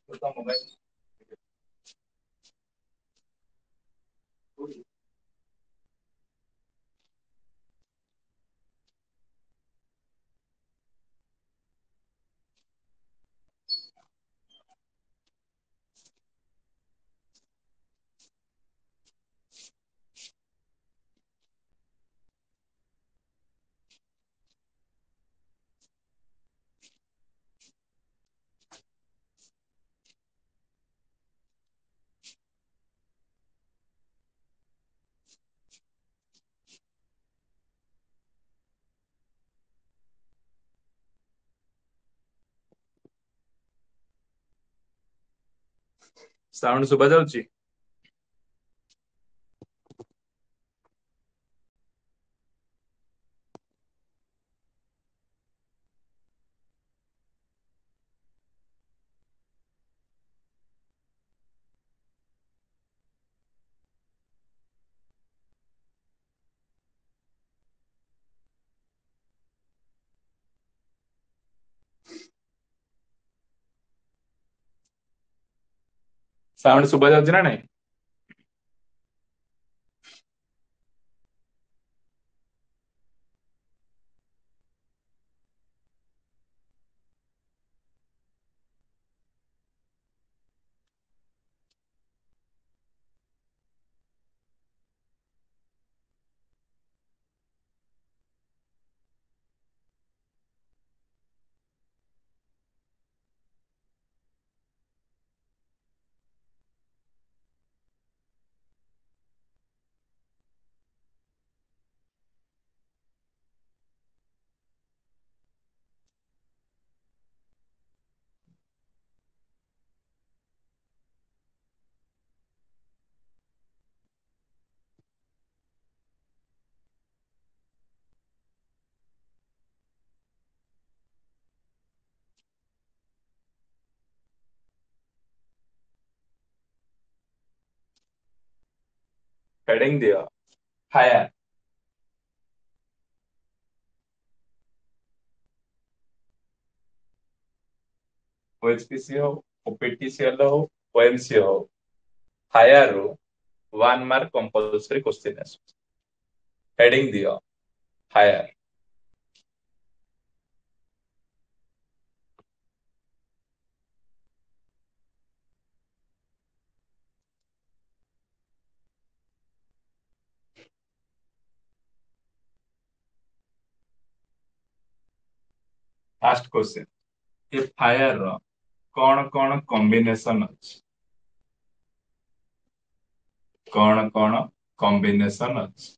Mobile. Sound ଶୁଭା ଯାଉଛି? Sound ଶୁଭା ଯାଉଛି ନା ନାଇଁ? ହେଡିଙ୍ଗ ଦିଅ, ଫାୟାର। ଓଏଚପିସି ହଉ, ଓପିଟିସିଏଲ ହଉ, ଓଏମସି ହଉ, ଫାୟାର ରୁ 1 ମାର୍କ କମ୍ପଲସରି କ୍ୱେଶ୍ଚିନ୍ ଆସୁଛି। ହେଡିଙ୍ଗ ଦିଅ, ଫାୟାର। ଫାଷ୍ଟ କ୍ୱେଶ୍ଚିନ୍, ଏ ଫାୟାର ର କଣ କଣ କମ୍ବିନେସନ ଅଛି? କଣ କଣ କମ୍ବିନେସନ ଅଛି?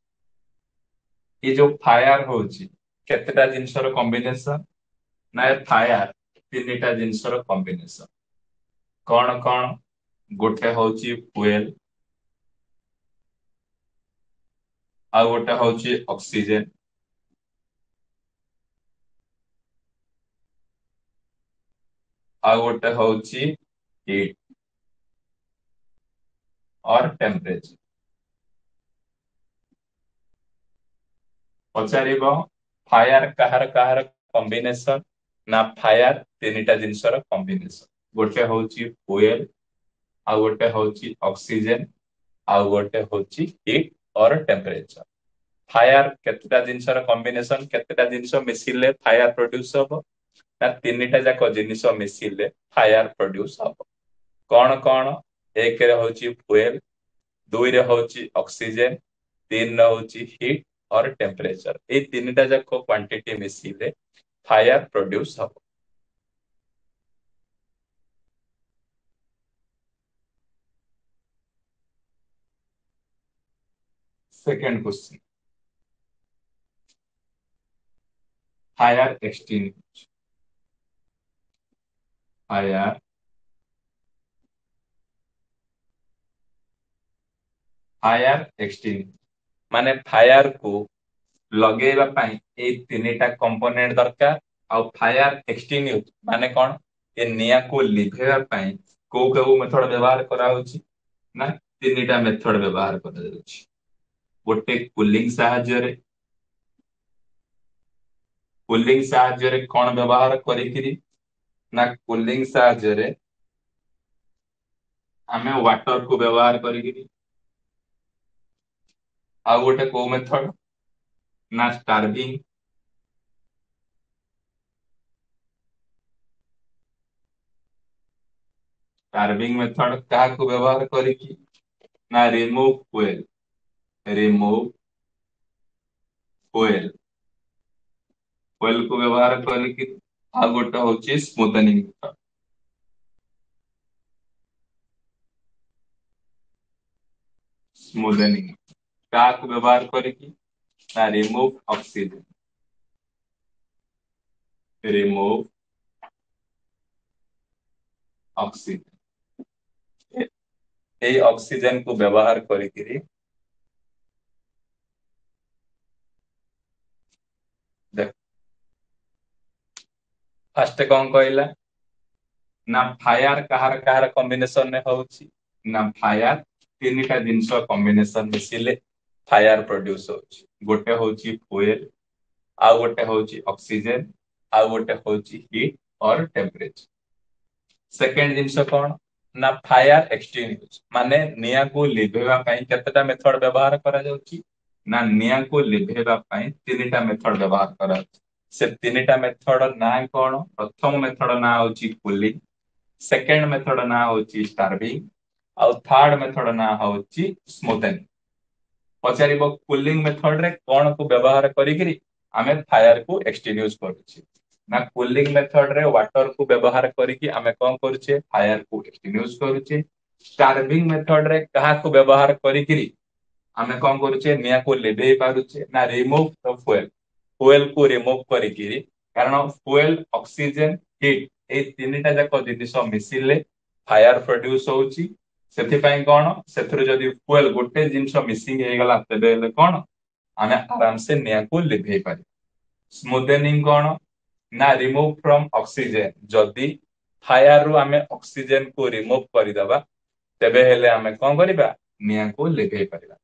ଏ ଯୋଉ ଫାୟାର ହଉଛି କେତେଟା ଜିନିଷର କମ୍ବିନେସନ? ନା ଏ ଫାୟାର ତିନିଟା ଜିନିଷର କମ୍ବିନେସନ। କଣ କଣ? ଗୋଟେ ହଉଛି ଫୁଏଲ, ଆଉ ଗୋଟେ ହଉଛି ଅକ୍ସିଜେନ, ଆଉ ଗୋଟେ ହଉଛି ହିଟ୍ ଅର ଟେମ୍ପରେଚର। ପଚାରିବ ଫାୟାର କାହାର କାହାର କମ୍ବିନେସନ? ନା ଫାୟାର ତିନିଟା ଜିନିଷର କମ୍ବିନେସନ। ଗୋଟେ ହଉଛି ଫୁଏଲ, ଆଉ ଗୋଟେ ହଉଛି ଅକ୍ସିଜେନ, ଆଉ ଗୋଟେ ହଉଛି ହିଟ୍ ଅର ଟେମ୍ପରେଚର। ଫାୟାର କେତେଟା ଜିନିଷର କମ୍ବିନେସନ? କେତେଟା ଜିନିଷ ମିଶିଲେ ଫାୟାର ପ୍ରଡ୍ୟୁସ ହବ? ନା ତିନିଟା ଯାକ ଜିନିଷ ମିଶିଲେ ଫାୟାର ପ୍ରଡ୍ୟୁସ ହବ। କଣ କଣ? ଏକରେ ହଉଛି ଫୁଏଲ, ଦୁଇରେ ହଉଛି ଅକ୍ସିଜେନ, ତିନିରେ ହଉଛି ହିଟ୍ ଅର ଟେମ୍ପରେଚର। ଏଇ ତିନିଟା ଯାକ କ୍ୱାଣ୍ଟିଟି ମିଶିଲେ ଫାୟାର ପ୍ରଡ୍ୟୁସ ହବ। Second question, fire extinguisher. Fire fire extinguisher ମାନେ ଫାୟାର କୁ ଲଗେଇବା ପାଇଁ ଏଇ ତିନିଟା କମ୍ପୋନେଣ୍ଟ ଦରକାର। ଆଉ ଫାୟାର ଏକ୍ସଟିଙ୍ଗୁଇଶ ମାନେ କଣ? ଏ ନିଆଁକୁ ଲିଭେଇବା ପାଇଁ କୋଉ କୋଉ ମେଥଡ ବ୍ୟବହାର କରାହଉଛି? ନା ତିନିଟା ମେଥଡ ବ୍ୟବହାର କରାଯାଉଛି। ଗୋଟେ କୁଲିଂ ସାହାଯ୍ୟରେ, କୁଲିଂ ସାହାଯ୍ୟରେ କଣ ବ୍ୟବହାର କରିକିରି? ନା କୁଲିଂ ସାହାଯ୍ୟରେ ଆମେ ୱାଟର କୁ ବ୍ୟବହାର କରିକିରି। ଆଉ ଗୋଟେ କୋଉ ମେଥଡ ନା ଷ୍ଟାର୍ଭିଂ। ଷ୍ଟାର୍ଭିଂ ମେଥଡ କାହାକୁ ବ୍ୟବହାର କରିକି ନା remove fuel, remove fuel. Fuel କୁ ବ୍ୟବହାର କରିକି। ଆଉ ଗୋଟେ ହଉଛି ସ୍ମୁଥନିଂ ମେଥଡ। ସ୍ମୁଦନିଂ କାହାକୁ ବ୍ୟବହାର କରିକି ନା ରିମୁଭ ଅକ୍ସିଜେନ। Remove oxygen. ଏଇ ଅକ୍ସିଜେନ କୁ ବ୍ୟବହାର କରିକିରି ଦେଖ, ଫାଷ୍ଟ କଣ କହିଲା ନା ଫାୟାର କାହାର କାହାର କମ୍ବିନେସନରେ ହଉଛି ନା ଫାୟାର ତିନିଟା ଜିନିଷ କମ୍ବିନେସନ ମିଶିଲେ ଫାୟାର ପ୍ରଡ୍ୟୁସ ହଉଛି। ଗୋଟେ ହଉଛି ଫୁଏଲ, ଆଉ ଗୋଟେ ହଉଛି ଅକ୍ସିଜେନ, ଆଉ ଗୋଟେ ହଉଛି ହିଟ୍ ଅର ଟେମ୍ପରେଚର। ସେକେଣ୍ଡ ଜିନିଷ କଣ ନା ଫାୟାର ଏକ୍ସଟିଙ୍ଗୁଇଶ, ମାନେ ନିଆଁକୁ ଲିଭେଇବା ପାଇଁ କେତେଟା ମେଥଡ ବ୍ୟବହାର କରାଯାଉଛି ନା ନିଆଁକୁ ଲିଭେଇବା ପାଇଁ ତିନିଟା ମେଥଡ ବ୍ୟବହାର କରାଯାଉଛି। ସେ ତିନିଟା ମେଥଡ ନାଁ କଣ? ପ୍ରଥମ ମେଥଡ ନାଁ ହଉଛି କୁଲିଂ, ସେକେଣ୍ଡ ମେଥଡ ନାଁ ହଉଛି ଷ୍ଟାର୍ଭିଂ, ଆଉ ଥାର୍ଡ ମେଥଡ ନାଁ ହଉଛି ସ୍ମୁଥେନିଂ। ପଚାରିବ କୁଲିଂ ମେଥଡ ରେ କଣ କୁ ବ୍ୟବହାର କରିକିରି ଆମେ ଫାୟାର କୁ ଏକ୍ସଟିନ୍ୟୁଜ କରୁଛେ ନା କୁଲିଂ ମେଥଡ ରେ ୱାଟର କୁ ବ୍ୟବହାର କରିକି ଆମେ କଣ କରୁଛେ, ଫାୟାର କୁ ଏକ୍ସଟିନ୍ୟୁଜ କରୁଛେ। ଷ୍ଟାର୍ଭିଂ ମେଥଡ ରେ କାହାକୁ ବ୍ୟବହାର କରିକିରି ଆମେ କଣ କରୁଛେ, ନିଆଁକୁ ଲିଭେଇ ପାରୁଛେ ନା ରିମୁଭ ଦ ଫୁଏଲ, ଫୁଏଲ କୁ ରିମୁଭ କରିକିରି, କାରଣ ଫୁଏଲ, ଅକ୍ସିଜେନ, ହିଟ୍ ଏଇ ତିନିଟା ଯାକ ଜିନିଷ ମିଶିଲେ ଫାୟାର ପ୍ରଡ୍ୟୁସ ହଉଛି। ସେଥିପାଇଁ କଣ ସେଥିରୁ ଯଦି ଫୁଏଲ ଗୋଟେ ଜିନିଷ ମିସିଂ ହେଇଗଲା ତେବେ ହେଲେ କଣ ଆମେ ଆରାମସେ ନିଆଁକୁ ଲିଭେଇ ପାରିବା। ସ୍ମୁଥେନିଂ କଣ ନା ରିମୁଭ ଫ୍ରମ ଅକ୍ସିଜେନ, ଯଦି ଫାୟାର ରୁ ଆମେ ଅକ୍ସିଜେନ କୁ ରିମୁଭ କରିଦବା ତେବେ ହେଲେ ଆମେ କଣ କରିବା, ନିଆଁକୁ ଲିଭେଇ ପାରିବା।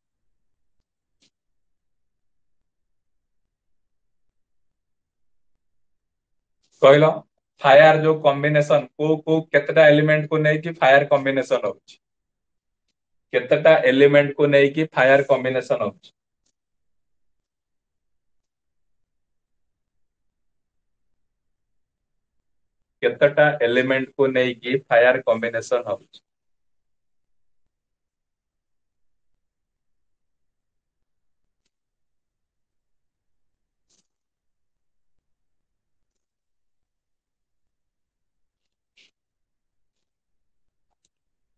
କହିଲ ଫାୟାର ଯୋଉ କମ୍ବିନେସନ କୋଉ କୋଉ କେତେଟା ଏଲିମେଣ୍ଟ କୁ ନେଇକି ଫାୟାର କମ୍ବିନେସନ ହଉଛି, କେତେଟା ଏଲିମେଣ୍ଟ କୁ ନେଇକି ଫାୟାର କମ୍ବିନେସନ ହଉଛି? କେତେଟା ଏଲିମେଣ୍ଟ କୁ ନେଇକି ଫାୟାର କମ୍ବିନେସନ ହଉଛି?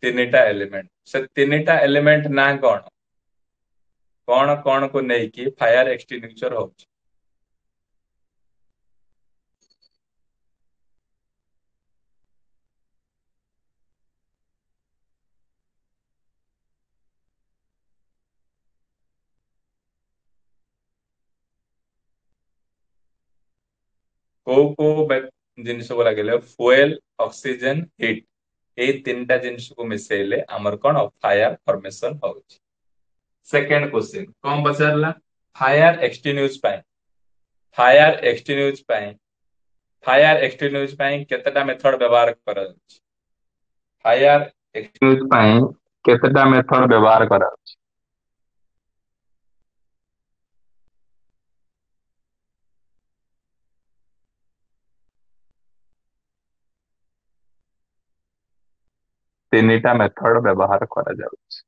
ତିନିଟା ଏଲିମେଣ୍ଟ। ସେ ତିନିଟା ଏଲିମେଣ୍ଟ ନାଁ କଣ? କଣ କଣ କୁ ନେଇକି ଫାୟାର ଏକ୍ସଟିଙ୍ଗୁଇସର ହଉଛି? କୋଉ କୋଉ ଜିନିଷକୁ ଲାଗିଲେ ଫୁଏଲ, ଅକ୍ସିଜେନ, ହିଟ୍ ଏଇ ତିନିଟା ଜିନିଷକୁ ମିଶେଇଲେ ଆମର କଣ ଫାୟାର ଫର୍ମେସନ ହଉଛି। ସେକେଣ୍ଡ କ୍ୱେଶ୍ଚିନ୍ କଣ ପଚାରିଲା? ଫାୟାର ଏକ୍ସଟିନ୍ୟୁଜ ପାଇଁ, ଫାୟାର ଏକ୍ସଟିନ୍ୟୁଜ ପାଇଁ, ଫାୟାର ଏକ୍ସଟିନ୍ୟୁଜ ପାଇଁ କେତେଟା ମେଥଡ ବ୍ୟବହାର କରାଯାଉଛି? ଫାୟାର ଏକ୍ସଟିନ୍ୟୁଜ ପାଇଁ କେତେଟା ମେଥଡ ବ୍ୟବହାର କରାଯାଉଛି? ତିନିଟା ମେଥଡ ବ୍ୟବହାର କରାଯାଉଛି।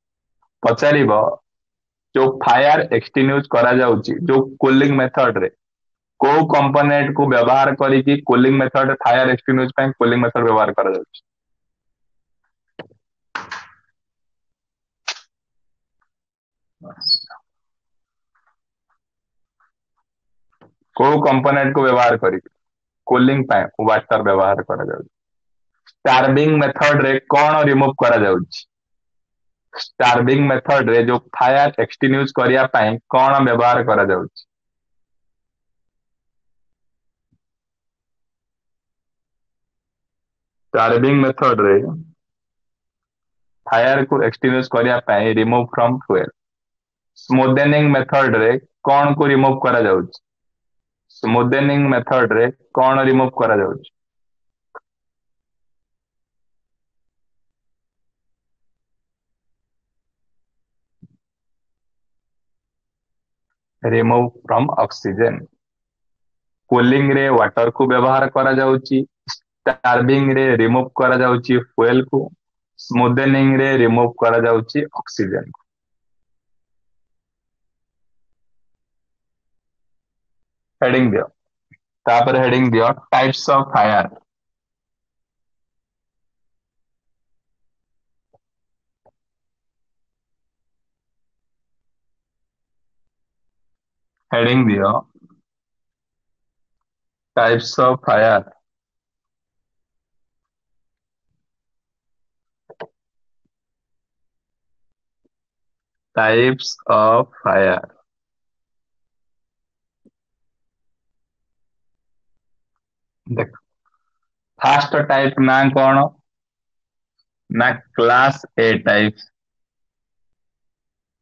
ପଚାରିବ ଯୋଉ ଫାୟାର ଏକ୍ସଟିନ୍ୟୁଜ କରାଯାଉଛି ଯୋଉ କୁଲିଂ ମେଥଡ ରେ କୋଉ କମ୍ପୋନେଣ୍ଟ କୁ ବ୍ୟବହାର କରିକି କୁଲିଂ ମେଥଡ ଫାୟାର ଏକ୍ସଟିନ୍ୟୁଜ ପାଇଁ କୁଲିଂ ମେଥଡ ବ୍ୟବହାର କରାଯାଉଛି? କୋଉ କମ୍ପୋନେଣ୍ଟ କୁ ବ୍ୟବହାର କରିକି କୁଲିଂ ପାଇଁ ୱାଟର ବ୍ୟବହାର କରାଯାଉଛି? ଷ୍ଟାର୍ଭିଂ ମେଥଡ ରେ କଣ ରିମୁଭ କରାଯାଉଛି? ଷ୍ଟାର୍ଭିଂ ମେଥଡ ରେ ଯୋଉ ଫାୟାର ଏକ୍ସଟିନ୍ୟୁଜ କରିବା ପାଇଁ କଣ ବ୍ୟବହାର କରାଯାଉଛି? ଷ୍ଟାର୍ଭିଂ ମେଥଡ ରେ ଫାୟାର କୁ ଏକ୍ସଟିନ୍ୟୁଜ କରିବା ପାଇଁ ରିମୁଭ ଫ୍ରମ ଫୁଏଲ। ସ୍ମୁଥେନିଂ ମେଥଡ ରେ କଣ କୁ ରିମୁଭ କରାଯାଉଛି? ସ୍ମୁଥେନିଂ ମେଥଡ ରେ କଣ ରିମୁଭ କରାଯାଉଛି? Remove from oxygen. Cooling ରେ ୱାଟର କୁ ବ୍ୟବହାର କରାଯାଉଛି, ଷ୍ଟାର୍ଭିଂ ରେ ରିମୁଭ କରାଯାଉଛି ଫୁଏଲ କୁ, ସ୍ମୁଦେନିଂ ରେ ରିମୁଭ କରାଯାଉଛି ଅକ୍ସିଜେନ କୁ। ହେଡିଂ ଦିଅ, ତାପରେ ହେଡିଂ ଦିଅ ଟାଇପ୍ସ ଅଫ ଫାୟାର। ହେଡିଂ ଦିଅ types of fire. Types of fire. ଦେଖ, ଫାଷ୍ଟ ଟାଇପ ନା କଣ ନା କ୍ଲାସ ଏ ଟାଇପ।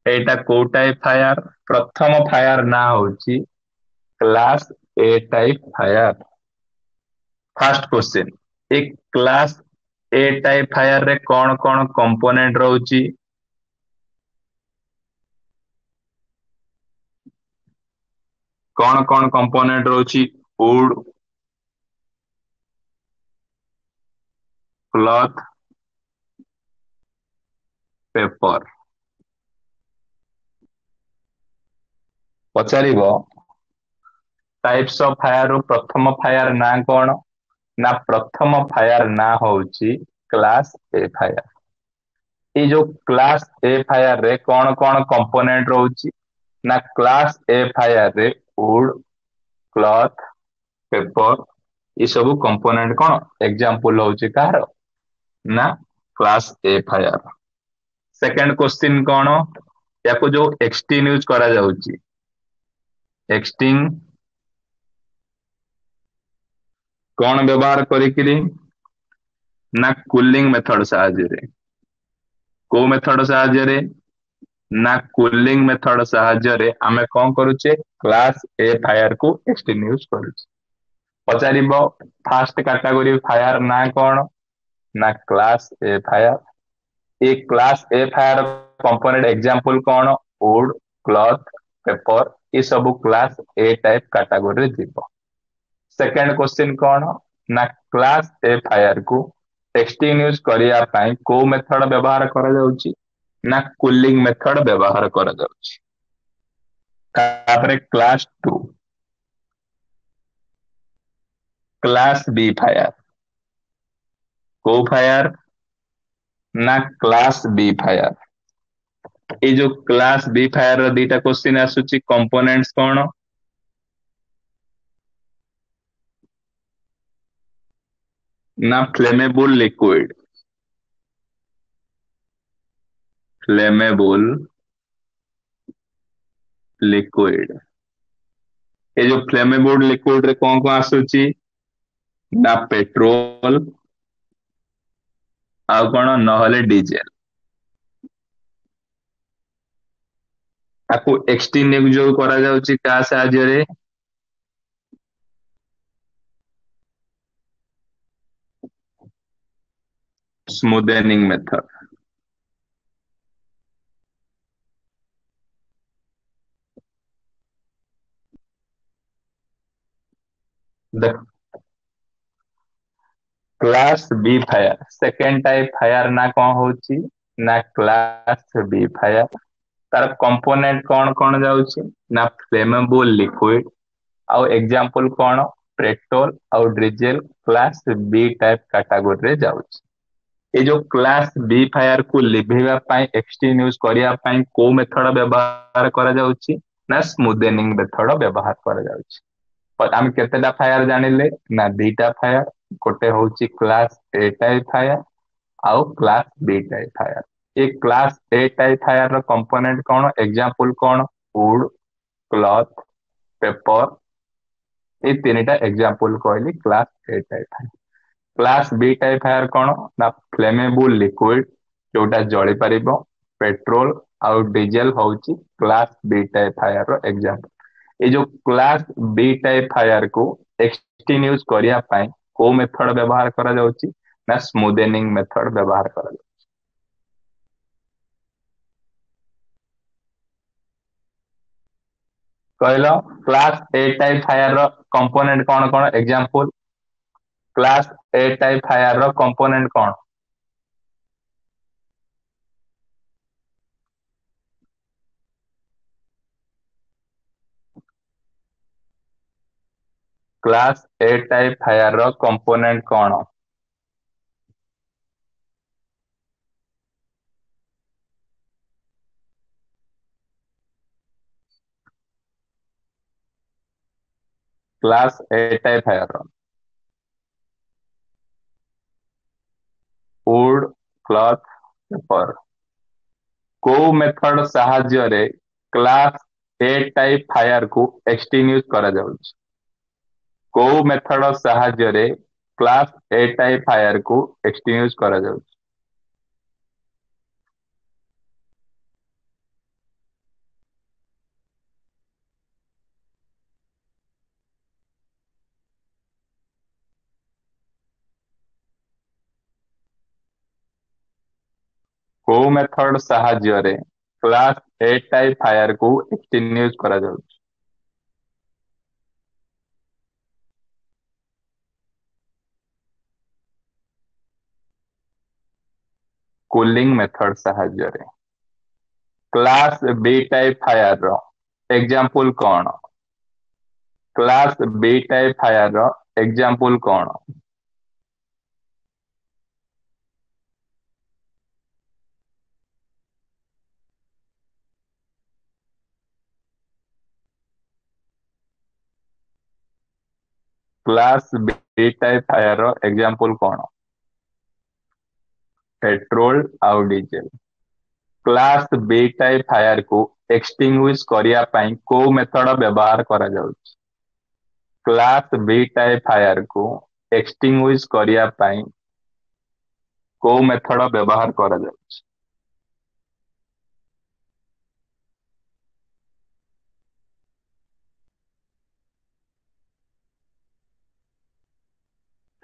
ଏଇଟା କୋଉ ଟାଇପ ଫାୟାର? ପ୍ରଥମ ଫାୟାର ନା ହଉଛି class A type fire. First question, A class A type fire ରେ କଣ କଣ କମ୍ପୋନେଣ୍ଟ ରହୁଛି? କଣ କଣ କମ୍ପୋନେଣ୍ଟ ରହୁଛି? ଉଡ, କ୍ଲଥ, ପେପର। ପଚାରିବ ଟାଇପ୍ସ ଅଫ ଫାୟାର ରୁ ପ୍ରଥମ ଫାୟାର ନାଁ କଣ? ନା ପ୍ରଥମ ଫାୟାର ନାଁ ହଉଛି କ୍ଲାସ ଏ ଫାୟାର। ଏଇ ଯୋଉ କ୍ଲାସ ଏ ଫାୟାର ରେ କଣ କଣ କମ୍ପୋନେଣ୍ଟ ରହୁଛି? ନା କ୍ଲାସ ଏ ଫାୟାର ରେ ଉଡ, କ୍ଲଥ, ପେପର ଏ ସବୁ କମ୍ପୋନେଣ୍ଟ କଣ ଏକ୍ଜାମ୍ପଲ ହଉଛି କାହାର? ନା class A fire. Second question କଣ? ୟାକୁ ଯୋଉ ଏକ୍ସଟିନ୍ୟୁଜ କରାଯାଉଛି, ଏକ୍ସଟିଂ କଣ ବ୍ୟବହାର କରିକିରି? ନା କୁଲିଂ ମେଥଡ ସାହାଯ୍ୟରେ। କୋଉ ମେଥଡ ସାହାଯ୍ୟରେ? ନା କୁଲିଂ ମେଥଡ ସାହାଯ୍ୟରେ ଆମେ କଣ କରୁଛେ? କ୍ଲାସ ଏ ଫାୟାର କୁ ଏକ୍ସଟିନ୍ୟୁଜ କରୁଛେ। ପଚାରିବ ଫାଷ୍ଟ କାଟାଗୋରୀ ଫାୟାର ନା କଣ? ନା class A fire. A class A fire component example କଣ? ଉଡ, କ୍ଲଥ, ପେପର ଏ ସବୁ କ୍ଲାସ ଏ ଟାଇପ କାଟାଗୋରୀରେ ଯିବ। ସେକେଣ୍ଡ କ୍ୱେଶ୍ଚିନ୍ କଣ? ନା କ୍ଲାସ ଏ ଫାୟାର କୁ ଏକ୍ସଟିନ୍ୟୁଜ କରିବା ପାଇଁ କୋଉ ମେଥଡ ବ୍ୟବହାର କରାଯାଉଛି? ନା କୁଲିଂ ମେଥଡ ବ୍ୟବହାର କରାଯାଉଛି। ତାପରେ class 2, class B fire. କୋଉ ଫାୟାର? ନା କ୍ଲାସ ବି ଫାୟାର। ଏଇ ଯୋଉ କ୍ଲାସ ବି ଫାୟାର ର ଦିଟା କ୍ୱେଶ୍ଚିନ୍ ଆସୁଛି, କମ୍ପୋନେଣ୍ଟସ କଣ? ନା ଫ୍ଲେମେବୁଲ ଲିକ୍ୱିଡ। ଫ୍ଲେମେବୁଲ ଲିକ୍ୱିଡ। ଏ ଯୋଉ ଫ୍ଲେମେବୁଲ ଲିକ୍ୱିଡ ରେ କଣ କଣ ଆସୁଛି? ନା ପେଟ୍ରୋଲ ଆଉ କଣ ନହେଲେ ଡିଜେଲ। ତାକୁ ଏକ୍ସଟିନ୍ୟୁଜ ଯୋଉ କରାଯାଉଛି କାହା ସାହାଯ୍ୟରେ? ସ୍ମୁଦେନିଂ ମେଥଡ। ଦେଖ, class B fire, second type fire ନା କଣ ହଉଛି? ନା କ୍ଲାସ ବି ଫାୟାର। ତାର କମ୍ପୋନେଣ୍ଟ କଣ କଣ ଯାଉଛି? ନା ଫ୍ଲେମେବୁଲ ଲିକ୍ୱିଡ ଆଉ ଏକ୍ଜାମ୍ପଲ କଣ? ପେଟ୍ରୋଲ ଆଉ ଡିଜେଲ କ୍ଲାସ ବି ଟାଇପ କାଟାଗୋରୀରେ ଯାଉଛି। ଏଇ ଯୋଉ କ୍ଲାସ ବି ଫାୟାର କୁ ଲିଭେଇବା ପାଇଁ, ଏକ୍ସଟିନ୍ୟୁଜ କରିବା ପାଇଁ କୋଉ ମେଥଡ ବ୍ୟବହାର କରାଯାଉଛି? ନା ସ୍ମୁଦେନିଂ ମେଥଡ ବ୍ୟବହାର କରାଯାଉଛି। ଆମେ କେତେଟା ଫାୟାର ଜାଣିଲେ? ନା ଦିଟା ଫାୟାର। ଗୋଟେ ହଉଛି କ୍ଲାସ ଏ ଟାଇପ ଫାୟାର ଆଉ କ୍ଲାସ ବି ଟାଇପ ଫାୟାର। ଏ କ୍ଲାସ ଏ ଟାଇପ ଫାୟାର ର କମ୍ପୋନେଣ୍ଟ କଣ, ଏକ୍ଜାମ୍ପଲ କଣ? ଉଡ, କ୍ଲଥ, ପେପର। ଏଇ ତିନିଟା ଏକ୍ଜାମ୍ପଲ କହିଲି class A type fire. Class B type fire କଣ? ନା ଫ୍ଲେମେବୁଲ ଲିକ୍ୱିଡ ଯୋଉଟା ଜଳି ପାରିବ, ପେଟ୍ରୋଲ ଆଉ ଡିଜେଲ ହଉଛି କ୍ଲାସ ବି ଟାଇପ ଫାୟାର ର ଏକ୍ଜାମ୍ପଲ। ଏଇ ଯୋଉ କ୍ଲାସ ବି ଟାଇପ ଫାୟାର କୁ ଏକ୍ସଟିନ୍ୟୁଜ କରିବା ପାଇଁ କୋଉ ମେଥଡ ବ୍ୟବହାର କରାଯାଉଛି? ନା ସ୍ମୁଦେନିଂ ମେଥଡ ବ୍ୟବହାର କରାଯାଉଛି। କହିଲ, କ୍ଲାସ ଏ ଟାଇପ ଫାୟାର ର କମ୍ପୋନେଣ୍ଟ କଣ କଣ? Example, class A type fire ର କମ୍ପୋନେଣ୍ଟ କଣ? କ୍ଲାସ ଏ ଟାଇପ ଫାୟାର ର କମ୍ପୋନେଣ୍ଟ କଣ? କ୍ଲାସ ଏ ଟାଇପ ଫାୟାର ର ଉଡ, କ୍ଲଥ, ପେପର। କୋଉ ମେଥଡ ସାହାଯ୍ୟରେ କ୍ଲାସ ଏ ଟାଇପ ଫାୟାର କୁ ଏକ୍ସଟିଙ୍ଗୁଇଶ କରାଯାଉଛି? କୋଉ ମେଥଡ ସାହାଯ୍ୟରେ କ୍ଲାସ ଏ ଟାଇପ ଫାୟାର କୁ ଏକ୍ସଟିଙ୍ଗୁଇଶ କରାଯାଉଛି? କୋଉ ମେଥଡ ସାହାଯ୍ୟରେ କ୍ଲାସ ଏ ଟାଇପ ଫାୟାର କୁ ଏକ୍ସଟିଙ୍ଗୁଇଶ କରାଯାଉଛି? କୁଲିଂ ମେଥଡ ସାହାଯ୍ୟରେ। କ୍ଲାସ ବି ଟାଇପ ଫାୟାର ର ଏକ୍ଜାମ୍ପଲ କଣ? କ୍ଲାସ ବି ଟାଇପ ଫାୟାର ର ଏକ୍ଜାମ୍ପଲ କଣ? କ୍ଲାସ ବି ଟାଇପ ଫାୟାର ର ଏକ୍ଜାମ୍ପଲ କଣ? ପେଟ୍ରୋଲ ଆଉ ଡିଜେଲ। କ୍ଲାସ ବି ଟାଇପ ଫାୟାର କୁ ଏକ୍ସଟିଙ୍ଗୁଇଶ କରିବା ପାଇଁ କୋଉ ମେଥଡ ବ୍ୟବହାର କରାଯାଉଛି? କ୍ଲାସ ବି ଟାଇପ ଫାୟାର କୁ ଏକ୍ସଟିଙ୍ଗୁଇଶ କରିବା ପାଇଁ କୋଉ ମେଥଡ ବ୍ୟବହାର କରାଯାଉଛି?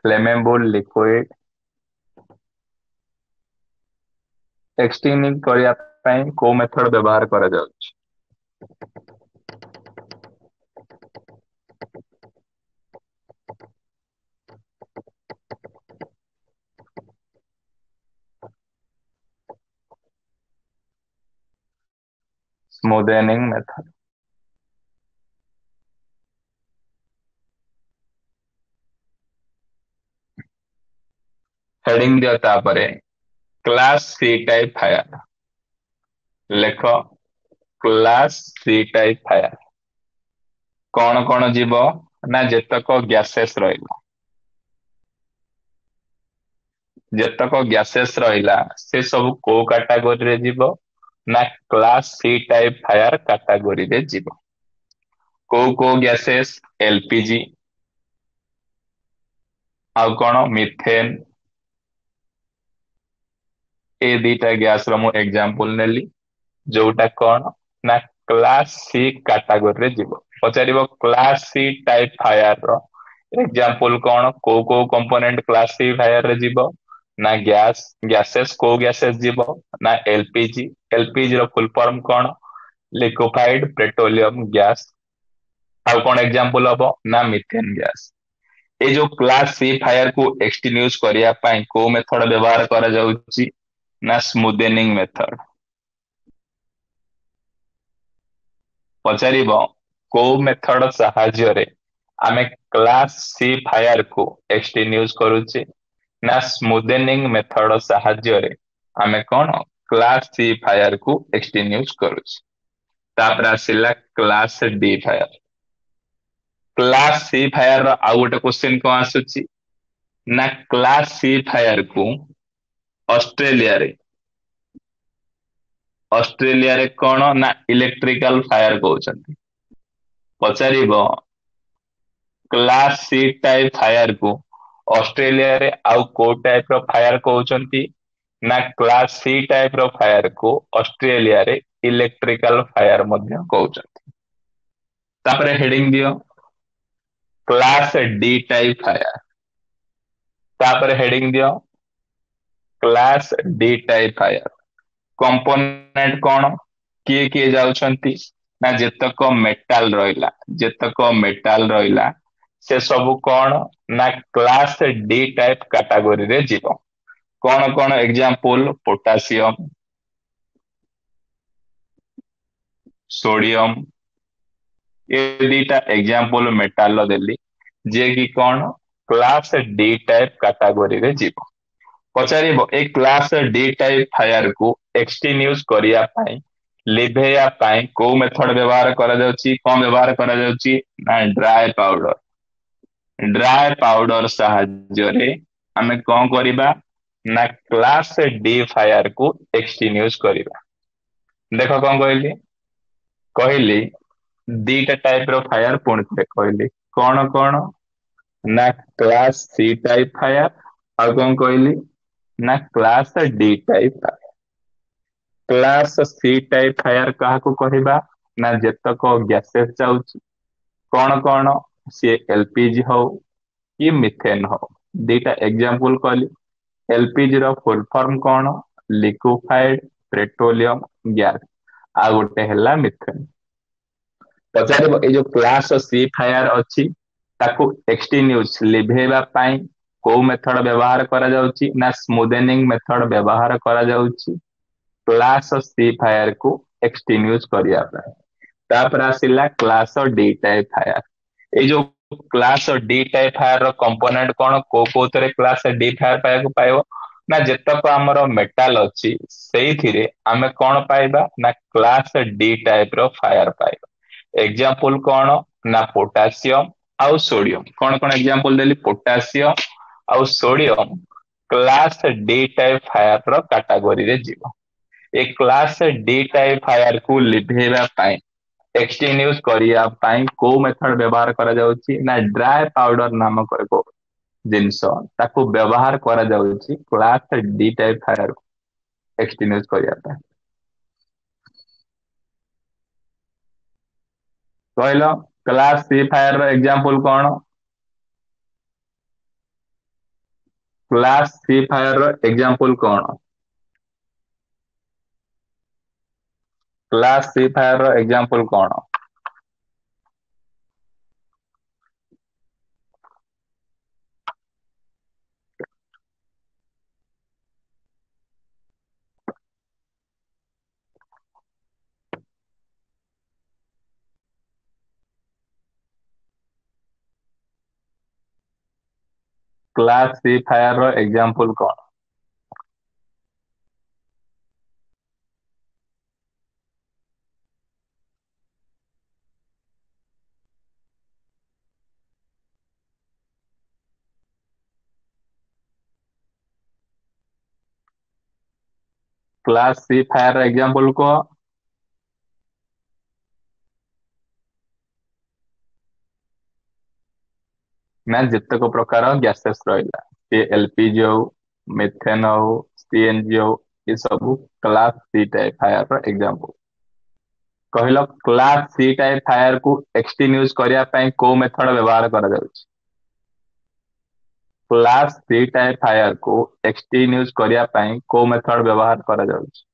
ଫ୍ଲେମେବଲ ଲିକ୍ୱିଡ ଏକ୍ସଟିଙ୍ଗୁଇଶ କରିବା ପାଇଁ କୋଉ ମେଥଡ ବ୍ୟବହାର କରାଯାଉଛି? ସ୍ମୁଦେନିଂ ମେଥଡ। ହେଡିଂ ଦିଅ, ତାପରେ କ୍ଲାସ ସି ଟାଇପ ଫାୟାର ଲେଖ। କ୍ଲାସ ସି ଟାଇପ ଫାୟାର କଣ କଣ ଯିବ ନା ଯେତକ ଗ୍ୟାସେସ୍ ରହିଲା, ଯେତକ ଗ୍ୟାସେସ୍ ରହିଲା ସେ ସବୁ କୋଉ କାଟାଗୋରୀରେ ଯିବ ନା କ୍ଲାସ ସି ଟାଇପ ଫାୟାର କାଟାଗୋରୀରେ ଯିବ। କୋଉ କୋଉ ଗ୍ୟାସେସ୍? ଏଲପିଜି ଆଉ କଣ, ମିଥେନ। ଏ ଦିଟା ଗ୍ୟାସ ର ମୁଁ ଏକ୍ଜାମ୍ପଲ ନେଲି, ଯୋଉଟା କଣ ନା କ୍ଲାସ ସି କାଟାଗୋରୀରେ ଯିବ। ପଚାରିବ କ୍ଲାସ ସି ଟାଇପ ଫାୟାର ର ଏକ୍ଜାମ୍ପଲ କଣ, କୋଉ କୋଉ କମ୍ପୋନେଣ୍ଟ କ୍ଲାସ ସି ଫାୟାର ରେ ଯିବ ନା ଗ୍ୟାସ, ଗ୍ୟାସେସ୍ କୋଉ ଗ୍ୟାସେସ୍ ଯିବ ନା ଏଲପିଜି। ଏଲପିଜି ର ଫୁଲ ଫର୍ମ କଣ? Liquefied petroleum gas. ଆଉ କଣ ଏକ୍ଜାମ୍ପଲ ହବ ନା ମିଥେନ ଗ୍ୟାସ। ଏଇ ଯୋଉ କ୍ଲାସ ସି ଫାୟାର କୁ ଏକ୍ସଟିଙ୍ଗୁଇଶ କରିବା ପାଇଁ କୋଉ ମେଥଡ ବ୍ୟବହାର କରାଯାଉଛି ନା ସ୍ମୁଦେନିଂ ମେଥଡ। ପଚାରିବ କୋଉ ମେଥଡ ସାହାଯ୍ୟରେ ଆମେ କ୍ଲାସ ସି ଫାୟାର କୁ ଏକ୍ସଟିଙ୍ଗୁଇଶ କରୁଛେ ନା ସ୍ମୁଦେନିଂ ମେଥଡ ସାହାଯ୍ୟରେ ଆମେ କଣ କ୍ଲାସ ସି ଫାୟାର କୁ ଏକ୍ସଟିଙ୍ଗୁଇଶ କରୁଛେ। ତାପରେ ଆସିଲା class D fire. Class C fire ର ଆଉ ଗୋଟେ କ୍ୱେଶ୍ଚିନ୍ କଣ ଆସୁଛି ନା କ୍ଲାସ ସି ଫାୟାର କୁ ଅଷ୍ଟ୍ରେଲିଆରେ, ଅଷ୍ଟ୍ରେଲିଆରେ କଣ ନା ଇଲେକ୍ଟ୍ରିକାଲ ଫାୟାର କହୁଛନ୍ତି। ପଚାରିବ କ୍ଲାସ ସି ଟାଇପ ଫାୟାର କୁ ଅଷ୍ଟ୍ରେଲିଆରେ ଆଉ କୋଉ ଟାଇପ ର ଫାୟାର କହୁଛନ୍ତି ନା କ୍ଲାସ ସି ଟାଇପ ର ଫାୟାର କୁ ଅଷ୍ଟ୍ରେଲିଆରେ ଇଲେକ୍ଟ୍ରିକାଲ ଫାୟାର ମଧ୍ୟ କହୁଛନ୍ତି। ତାପରେ ହେଡିଂ ଦିଅ କ୍ଲାସ ଡି ଟାଇପ ଫାୟାର। ତାପରେ ହେଡିଂ ଦିଅ class D type fire. Component କଣ, କିଏ କିଏ ଯାଉଛନ୍ତି ନା ଯେତକ ମେଟାଲ ରହିଲା, ଯେତକ ମେଟାଲ ରହିଲା, ସେ ସବୁ କଣ ନା କ୍ଲାସ ଡି ଟାଇପ କାଟାଗୋରୀରେ ଯିବ। କଣ କଣ ଏକ୍ଜାମ୍ପଲ? ପୋଟାସିୟମ, ସୋଡିୟମ, ଏ ଦିଟା ଏକ୍ଜାମ୍ପଲ ମେଟାଲ ଦେଲି, ଯିଏ କି କଣ କ୍ଲାସ ଡି ଟାଇପ କାଟାଗୋରୀରେ ଯିବ। ପଚାରିବ, ଏଇ କ୍ଲାସ ଡି ଟାଇପ ଫାୟାର କୁ ଏକ୍ସଟିନ୍ୟୁଜ କରିବା ପାଇଁ, ଲିଭେଇବା ପାଇଁ କୋଉ ମେଥଡ ବ୍ୟବହାର କରାଯାଉଛି? କଣ ବ୍ୟବହାର କରାଯାଉଛି ନା ଡ୍ରାଏ ପାଉଡର। ଡ୍ରାଏ ପାଉଡର ସାହାଯ୍ୟରେ ଆମେ କଣ କରିବା ନା କ୍ଲାସ ଡି ଫାୟାର କୁ ଏକ୍ସଟିନ୍ୟୁଜ କରିବା। ଦେଖ କଣ କହିଲି? କହିଲି ଦିଟା ଟାଇପ ର ଫାୟାର। ପୁଣି ଥରେ କହିଲି କଣ କଣ ନା କ୍ଲାସ ସି ଟାଇପ ଫାୟାର, ଆଉ କଣ କହିଲି ନା class D type fire. Class C type fire କାହାକୁ କହିବା ନା ଯେତକ ଗ୍ୟାସେସ୍ ଯାଉଛି, କଣ କଣ, ସିଏ ଏଲପିଜି ହଉ କି ମିଥେନ ହଉ। ଦିଟା ଏକ୍ଜାମ୍ପଲ କହିଲି। ଏଲପିଜି ର ଫୁଲ ଫର୍ମ କଣ? Liquefied petroleum gas. ଆଉ ଗୋଟେ ହେଲା ମିଥେନ। ପଚାରିବ, ଏଇ ଯୋଉ କ୍ଲାସ ସି ଫାୟାର ଅଛି, ତାକୁ ଏକ୍ସଟିନ୍ୟୁଜ, ଲିଭେଇବା ପାଇଁ କୋଉ ମେଥଡ ବ୍ୟବହାର କରାଯାଉଛି ନା ସ୍ମୁଦେନିଂ ମେଥଡ ବ୍ୟବହାର କରାଯାଉଛି କ୍ଲାସ ସି ଫାୟାର କୁ ଏକ୍ସଟିନ୍ୟୁଜ କରିବା ପାଇଁ। ତାପରେ ଆସିଲା କ୍ଲାସ ଡି ଟାଇପ ଫାୟାର। ଏଇ ଯୋଉ କ୍ଲାସ ଡି ଟାଇପ ଫାୟାର ର କମ୍ପୋନେଣ୍ଟ କଣ? କୋଉ କୋଉଥିରେ କ୍ଲାସ ଡି ଫାୟାର ପାଇବାକୁ ପାଇବ ନା ଯେତକ ଆମର ମେଟାଲ ଅଛି, ସେଇଥିରେ ଆମେ କଣ ପାଇବା ନା କ୍ଲାସ ଡି ଟାଇପ ର ଫାୟାର ପାଇବା। ଏକ୍ଜାମ୍ପଲ କଣ ନା ପୋଟାସିୟମ ଆଉ ସୋଡିୟମ। କଣ କଣ ଏକ୍ଜାମ୍ପଲ ଦେଲି? ପୋଟାସିୟମ ଆଉ sodium class D type fire ର କାଟାଗୋରୀରେ ଯିବ। ଏ କ୍ଲାସ ଡି ଟାଇପ ଫାୟାର କୁ ଲିଭେଇବା ପାଇଁ, ଏକ୍ସଟିନ୍ୟୁଜ କରିବା ପାଇଁ କୋଉ ମେଥଡ ବ୍ୟବହାର କରାଯାଉଛି ନା ଡ୍ରାଏ ପାଉଡର ନାମକ ଏକ ଜିନିଷ, ତାକୁ ବ୍ୟବହାର କରାଯାଉଛି କ୍ଲାସ ଡି ଟାଇପ ଫାୟାର ଏକ୍ସଟିନ୍ୟୁଜ କରିବା ପାଇଁ। କହିଲ, କ୍ଲାସ ସି ଫାୟାର ର ଏକ୍ଜାମ୍ପଲ କଣ? କ୍ଲାସ ସି ଫାୟାର ର ଏକ୍ଜାମ୍ପଲ କଣ? କ୍ଲାସ ସି ଫାୟାର ର ଏକ୍ଜାମ୍ପଲ କଣ? କ୍ଲାସ ସି ଫାୟାର ର ଏକ୍ଜାମ୍ପଲ କଣ? କ୍ଲାସ ସି ଫାୟାର ର ଏକ୍ଜାମ୍ପଲ କୁହ। ନା ଯେତେକ ପ୍ରକାର ଗ୍ୟାସେସ୍ ରହିଲା, ସେ ଏଲପିଜି ହଉ, ମିଥେନ ହଉ, ସିଏନଜି ହଉ, ଏ ସବୁ କ୍ଲାସ ସି ଟାଇପ ଫାୟାର ର ଏକ୍ଜାମ୍ପଲ। କହିଲ, କ୍ଲାସ ସି ଟାଇପ ଫାୟାର କୁ ଏକ୍ସଟିନ୍ୟୁଜ କରିବା ପାଇଁ କୋଉ ମେଥଡ ବ୍ୟବହାର କରାଯାଉଛି? କ୍ଲାସ ସି ଟାଇପ ଫାୟାର କୁ ଏକ୍ସଟିନ୍ୟୁଜ କରିବା ପାଇଁ କୋଉ ମେଥଡ ବ୍ୟବହାର କରାଯାଉଛି?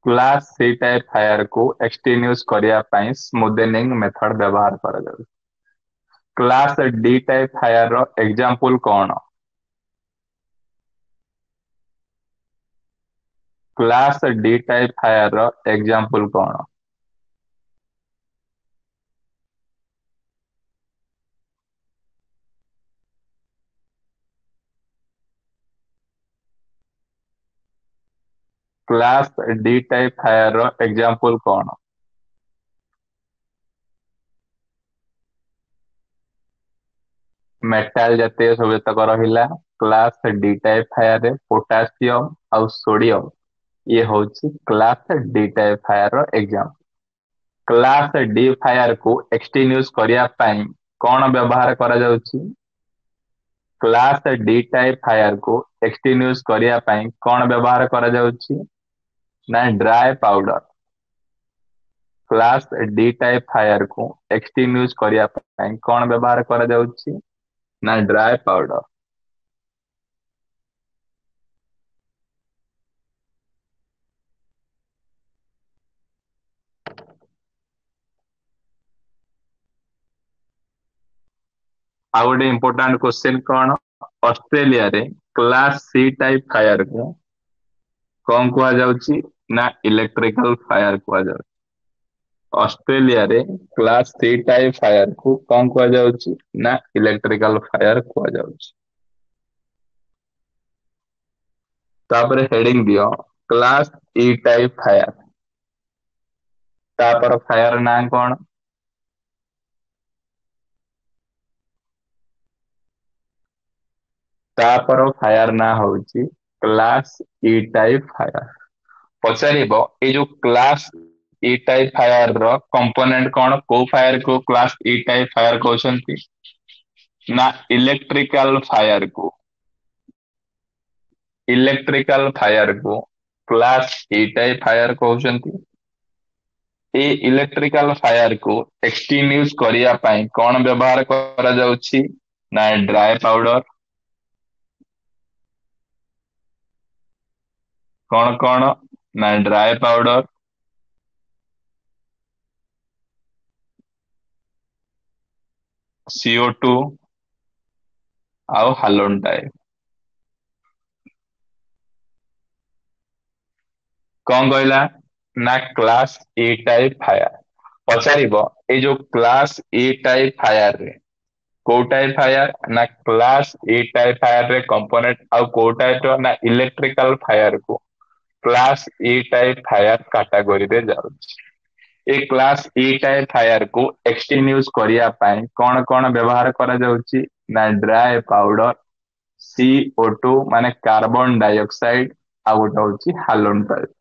କ୍ଲାସ ସି ଟାଇପ ଫାୟାର କୁ ଏକ୍ସଟିନ୍ୟୁଜ କରିବା ପାଇଁ ସ୍ମୁଦେନିଂ ମେଥଡ ବ୍ୟବହାର କରାଯାଉଛି। କ୍ଲାସ ଡି ଟାଇପ ଫାୟାର ର ଏକ୍ଜାମ୍ପଲ କଣ? କ୍ଲାସ ଡି ଟାଇପ ଫାୟାର ର ଏକ୍ଜାମ୍ପଲ କଣ? କ୍ଲାସ ଡି ଟାଇପ ଫାୟାର ର ଏକ୍ଜାମ୍ପଲ କଣ? ମେଟାଲ ଜାତୀୟ ସବୁ ଯେତକ ରହିଲା, କ୍ଲାସ ଡି ଟାଇପ ଫାୟାର ରେ ପୋଟାସିୟମ ଆଉ ସୋଡିୟମ, ଇଏ ହଉଛି କ୍ଲାସ ଡି ଟାଇପ ଫାୟାର ର ଏକ୍ଜାମ୍ପଲ। କ୍ଲାସ ଡି ଫାୟାର କୁ ଏକ୍ସଟିନ୍ୟୁଜ କରିବା ପାଇଁ କଣ ବ୍ୟବହାର କରାଯାଉଛି? କ୍ଲାସ ଡି ଟାଇପ ଫାୟାର କୁ ଏକ୍ସଟିନ୍ୟୁଜ କରିବା ପାଇଁ କଣ ବ୍ୟବହାର କରାଯାଉଛି ନା dry powder। Class D type fire କୁ ଏକ୍ସଟିନ୍ୟୁଜ କରିବା ପାଇଁ କଣ ବ୍ୟବହାର କରାଯାଉଛି ନା ଡ୍ରାଏ ପାଉଡର। ଆଉ ଗୋଟେ ଇମ୍ପୋର୍ଟାଣ୍ଟ କ୍ୱେଶ୍ଚିନ୍ କଣ? ଅଷ୍ଟ୍ରେଲିଆରେ କ୍ଲାସ ସି ଟାଇପ ଫାୟାର କୁ କଣ କୁହାଯାଉଛି ନା ଇଲେକ୍ଟ୍ରିକାଲ ଫାୟାର କୁହାଯାଉଛି। ଅଷ୍ଟ୍ରେଲିଆରେ କ୍ଲାସ ସି ଟାଇପ ଫାୟାର କୁ କଣ କୁହାଯାଉଛି ନା ଇଲେକ୍ଟ୍ରିକାଲ ଫାୟାର କୁହାଯାଉଛି। ତାପରେ ହେଡିଙ୍ଗ ଦିଅ କ୍ଲାସ ଇ ଟାଇପ ଫାୟାର। ତାପର ଫାୟାର ନାଁ କଣ? ତାପର ଫାୟାର ନାଁ ହଉଛି କ୍ଲାସ ଇ ଟାଇପ ଫାୟାର। ପଚାରିବ ଏଇ ଯୋଉ କ୍ଲାସ ଇ ଟାଇପ ଫାୟାର ର କମ୍ପୋନେଣ୍ଟ କଣ? କୋଉ ଫାୟାର କୁ କ୍ଲାସ ଇ ଟାଇପ ଫାୟାର କହୁଛନ୍ତି ନା ଇଲେକ୍ଟ୍ରିକାଲ ଫାୟାର କୁ। ଇଲେକ୍ଟ୍ରିକାଲ ଫାୟାର କୁ କ୍ଲାସ ଇ ଟାଇପ ଫାୟାର କହୁଛନ୍ତି। ଏଇ ଇଲେକ୍ଟ୍ରିକାଲ ଫାୟାର କୁ ଏକ୍ସଟିନ୍ୟୁଜ କରିବା ପାଇଁ କଣ ବ୍ୟବହାର କରାଯାଉଛି ନା ଡ୍ରାଏ ପାଉଡର। କଣ କଣ ନା ଡ୍ରାଏ ପାଉଡର, CO2 ଆଉ ହାଲୋନ ଟାଇପ। କଣ କହିଲା ନା କ୍ଲାସ ଇ ଟାଇପ ଫାୟାର। ପଚାରିବ ଏଇ ଯୋଉ କ୍ଲାସ ଇ ଟାଇପ ଫାୟାର ରେ କୋଉ ଟାଇପ ଫାୟାର ନା କ୍ଲାସ ଇ ଟାଇପ ଫାୟାର ରେ କମ୍ପୋନେଣ୍ଟ ଆଉ କୋଉ ଟାଇପ ର ନା ଇଲେକ୍ଟ୍ରିକାଲ ଫାୟାର କୁ କ୍ଲାସ ଇ ଟାଇପ ଫାୟାର କାଟାଗୋରୀରେ ଯାଉଛି। ଏ କ୍ଲାସ ଇ ଟାଇପ ଫାୟାର କୁ ଏକ୍ସଟିନ୍ୟୁଜ କରିବା ପାଇଁ କଣ କଣ ବ୍ୟବହାର କରାଯାଉଛି ନା ଡ୍ରାଏ ପାଉଡର, CO2 ମାନେ କାର୍ବନ ଡାଇଅକ୍ସାଇଡ, ଆଉ ଗୋଟେ ହଉଛି ହାଲୋନ ଟାଇପ।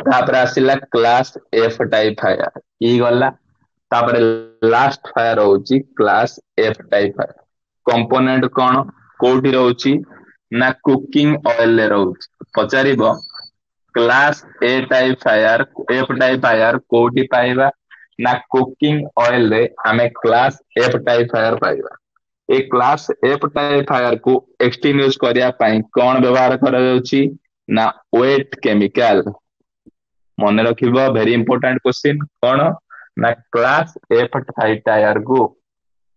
ତାପରେ ଆସିଲା କ୍ଲାସ ଏଫ ଟାଇପ ଫାୟାର, ଇ ଗଲା। ତାପରେ ଲାଷ୍ଟ ଫାୟାର ହଉଛି class F type fire. Component କଣ, କୋଉଠି ରହୁଛି ନା କୁକିଂ ଅଏଲ ରେ ରହୁଛି। ପଚାରିବ class A type fire, F type fire କୋଉଠି ପାଇବା ନା କୁକିଂ ଅଏଲ ରେ ଆମେ କ୍ଲାସ ଏଫ ଟାଇପ ଫାୟାର ପାଇବା। ଏ କ୍ଲାସ ଏଫ ଟାଇପ ଫାୟାର କୁ ଏକ୍ସଟିନ୍ୟୁଜ କରିବା ପାଇଁ କଣ ବ୍ୟବହାର କରାଯାଉଛି ନା ୱେଟ କେମିକାଲ। ମନେ ରଖିବ ଭେରି ଇମ୍ପୋର୍ଟାଣ୍ଟ କ୍ୱେଶ୍ଚିନ୍। କଣ ନା କ୍ଲାସ ଏଫ ଟାଇପ ଫାୟାର କୁ,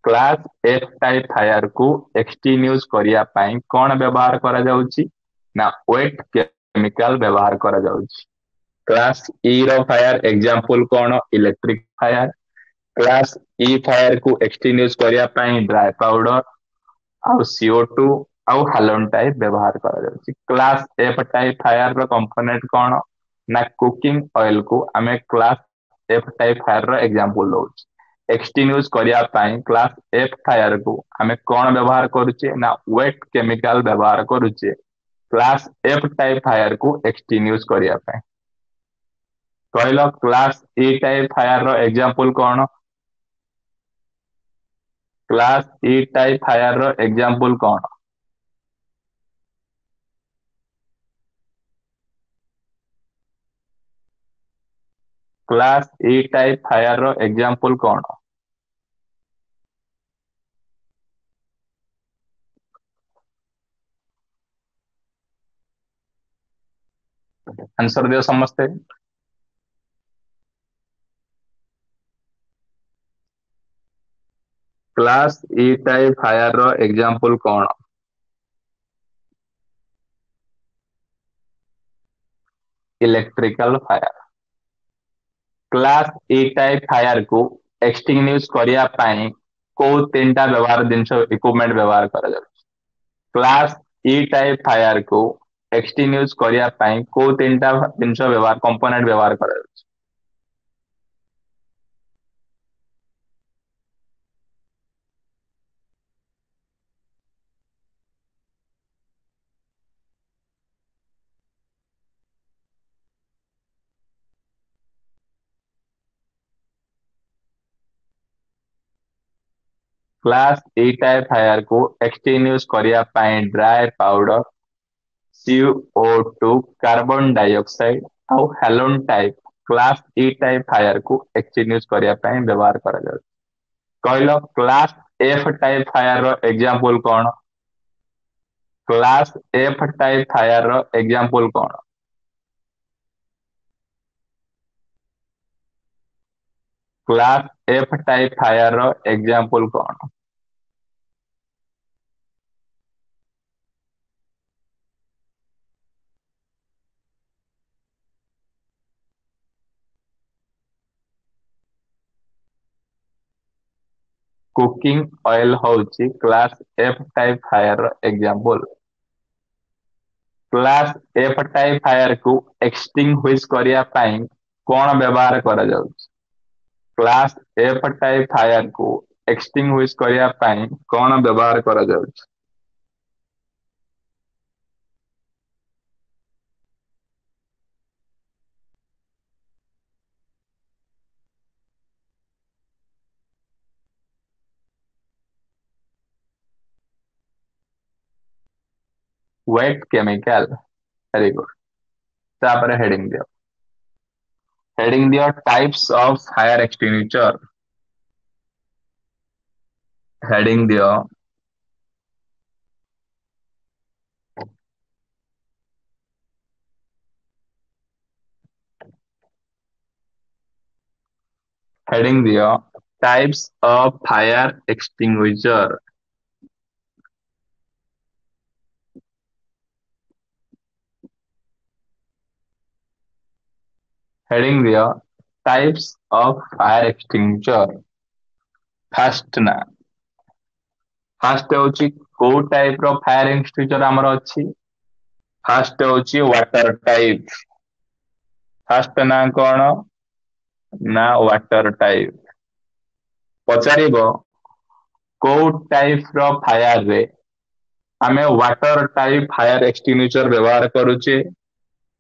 କ୍ଲାସ ଏଫ ଟାଇପ ଫାୟାର କୁ ଏକ୍ସଟିନ୍ୟୁଜ କରିବା ପାଇଁ କଣ ବ୍ୟବହାର କରାଯାଉଛି ନା ୱେଟ କେମିକାଲ ବ୍ୟବହାର କରାଯାଉଛି। କ୍ଲାସ ଇ ର ଫାୟାର ଏକ୍ଜାମ୍ପଲ କଣ? Electric fire. Class E fire କୁ ଏକ୍ସଟିନ୍ୟୁଜ କରିବା ପାଇଁ ଡ୍ରାଏ ପାଉଡର ଆଉ CO2 ଆଉ ହାଲୋନ ଟାଇପ ବ୍ୟବହାର କରାଯାଉଛି। କ୍ଲାସ ଏଫ ଟାଇପ ଫାୟାର ର କମ୍ପୋନେଣ୍ଟ କଣ ନା କୁକିଂ ଅଏଲ କୁ ଆମେ କ୍ଲାସ ଏଫ ଟାଇପ ଫାୟାର ର ଏକ୍ଜାମ୍ପଲ ଦଉଛୁ। ଏକ୍ସଟିନ୍ୟୁଜ କରିବା ପାଇଁ କ୍ଲାସ ଏଫ ଫାୟାର କୁ ଆମେ କଣ ବ୍ୟବହାର କରୁଛେ ନା ୱେଟ କେମିକାଲ ବ୍ୟବହାର କରୁଛେ କ୍ଲାସ ଏଫ ଟାଇପ ଫାୟାର କୁ ଏକ୍ସଟିନ୍ୟୁଜ କରିବା ପାଇଁ। କହିଲ କ୍ଲାସ ଇ ଟାଇପ ଫାୟାର ର ଏକ୍ଜାମ୍ପଲ କଣ? କ୍ଲାସ ଇ ଟାଇପ ଫାୟାର ର ଏକ୍ଜାମ୍ପଲ କଣ? କ୍ଲାସ ଇ ଟାଇପ ଫାୟାର ର ଏକ୍ଜାମ୍ପଲ କଣ? ଆନ୍ସର ଦିଅ ସମସ୍ତେ। କ୍ଲାସ ଇ ଟାଇପ ଫାୟାର ର ଏକ୍ଜାମ୍ପଲ କଣ? Electrical fire. Class E type fire କୁ ଏକ୍ସଟିନ୍ୟୁଜ କରିବା ପାଇଁ କୋଉ ତିନିଟା ବ୍ୟବହାର ଜିନିଷ ଇକ୍ୱିପମେଣ୍ଟ ବ୍ୟବହାର କରାଯାଉଛି? କ୍ଲାସ ଇ ଟାଇପ ଫାୟାର କୁ ଏକ୍ସଟିନ୍ୟୁଜ କରିବା ପାଇଁ କୋଉ ତିନିଟା ଜିନିଷ ବ୍ୟବହାର କମ୍ପୋନେଣ୍ଟ ବ୍ୟବହାର କରାଯାଉଛି? କ୍ଲାସ ଇ ଟାଇପ ଫାୟାର କୁ ଏକ୍ସଟିନ୍ୟୁଜ କରିବା ପାଇଁ dry powder, CO2, carbon dioxide ଆଉ halon type class E type fire କୁ ଏକ୍ସଟିନ୍ୟୁଜ କରିବା ପାଇଁ ବ୍ୟବହାର କରାଯାଉଛି। କହିଲ, କ୍ଲାସ ଏଫ ଟାଇପ ଫାୟାର ର ଏକ୍ଜାମ୍ପଲ କଣ? କ୍ଲାସ ଏଫ ଟାଇପ ଫାୟାର ର ଏକ୍ଜାମ୍ପଲ କଣ? କ୍ଲାସ ଏଫ ଟାଇପ ଫାୟାର ର ଏକ୍ଜାମ୍ପଲ କଣ? କୁକିଂ ଅଏଲ ହଉଛି କ୍ଲାସ ଏଫ ଟାଇପ ଫାୟାର ର example. Class F type fire କୁ ଏକ୍ସଟିଂଗୁଇଶ କରିବା ପାଇଁ କଣ ବ୍ୟବହାର କରାଯାଉଛି? କ୍ଲାସ ଏଫ ଟାଇପ ଫାୟାର କୁ ଏକ୍ସଟିଂଗୁଇଶ କରିବା ପାଇଁ କଣ ବ୍ୟବହାର କରାଯାଉଛି? Wet chemical, very good. ତାପରେ ହେଡିଂ ଦିଅ, ହେଡିଂ ଦିଅ types of fire extinguisher. Heading ଦିଅ, ହେଡିଂ ଦିଅ types of fire extinguisher. Heading ଦିଅ types of fire extinguisher. First ନା, ଫାଷ୍ଟ ହଉଛି କୋଉ ଟାଇପ ର ଫାୟାର ଏକ୍ସଟିଂଗୁଇଚର ଆମର ଅଛି? ଫାଷ୍ଟ ହଉଛି ୱାଟର ଟାଇପ। ଫାଷ୍ଟ ନା କଣ ନା ୱାଟର ଟାଇପ। ପଚାରିବ କୋଉ ଟାଇପ ର ଫାୟାର ରେ ଆମେ ୱାଟର ଟାଇପ ଫାୟାର ଏକ୍ସଟିଂଗୁଇଚର ବ୍ୟବହାର କରୁଛେ?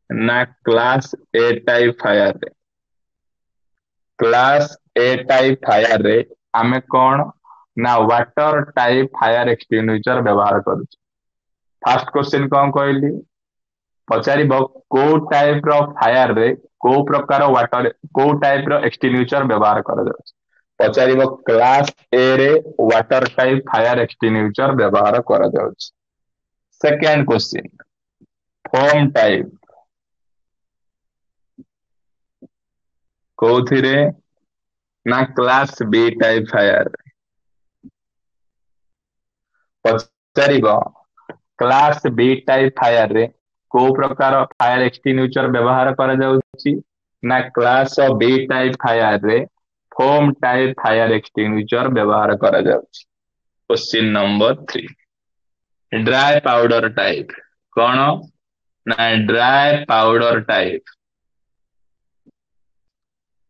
ନା କ୍ଲାସ ଏ ଟାଇପ ଫାୟାର ରେ। କ୍ଲାସ ଏ ଟାଇପ ଫାୟାର ରେ ଆମେ କଣ ନା ୱାଟର ଟାଇପ ଫାୟାର ଏକ୍ସଟିଂଗୁଇଚର ବ୍ୟବହାର କରୁଛେ। ଫାଷ୍ଟ କ୍ୱେଶ୍ଚିନ୍ କଣ କହିଲି? ପଚାରିବ କୋଉ ଟାଇପ ର ଫାୟାର ରେ କୋଉ ପ୍ରକାର ୱାଟର, କୋଉ ଟାଇପ ର ଏକ୍ସଟିଂଗୁଇଚର ବ୍ୟବହାର କରାଯାଉଛି? ପଚାରିବ କ୍ଲାସ ଏ ରେ ୱାଟର ଟାଇପ ଫାୟାର ଏକ୍ସଟିଂଗୁଇଚର ବ୍ୟବହାର କରାଯାଉଛି। ସେକେଣ୍ଡ କ୍ୱେଶ୍ଚିନ୍, ଫୋମ ଟାଇପ କୋଉଥିରେ? ନା କ୍ଲାସ ବି ଟାଇପ ଫାୟାର। ପଚାରିବ କ୍ଲାସ ବି ଟାଇପ ଫାୟାର ରେ କୋଉ ପ୍ରକାର ଫାୟାର ଏକ୍ସଟିଂଗୁଇଚର ବ୍ୟବହାର କରାଯାଉଛି? ନା କ୍ଲାସ ବି ଟାଇପ ଫାୟାର ରେ ଫୋମ ଟାଇପ ଫାୟାର ଏକ୍ସଟିଂଗୁଇଚର ବ୍ୟବହାର କରାଯାଉଛି। Question number 3, dry powder type କଣ? ନା ଡ୍ରାଏ ପାଉଡର ଟାଇପ।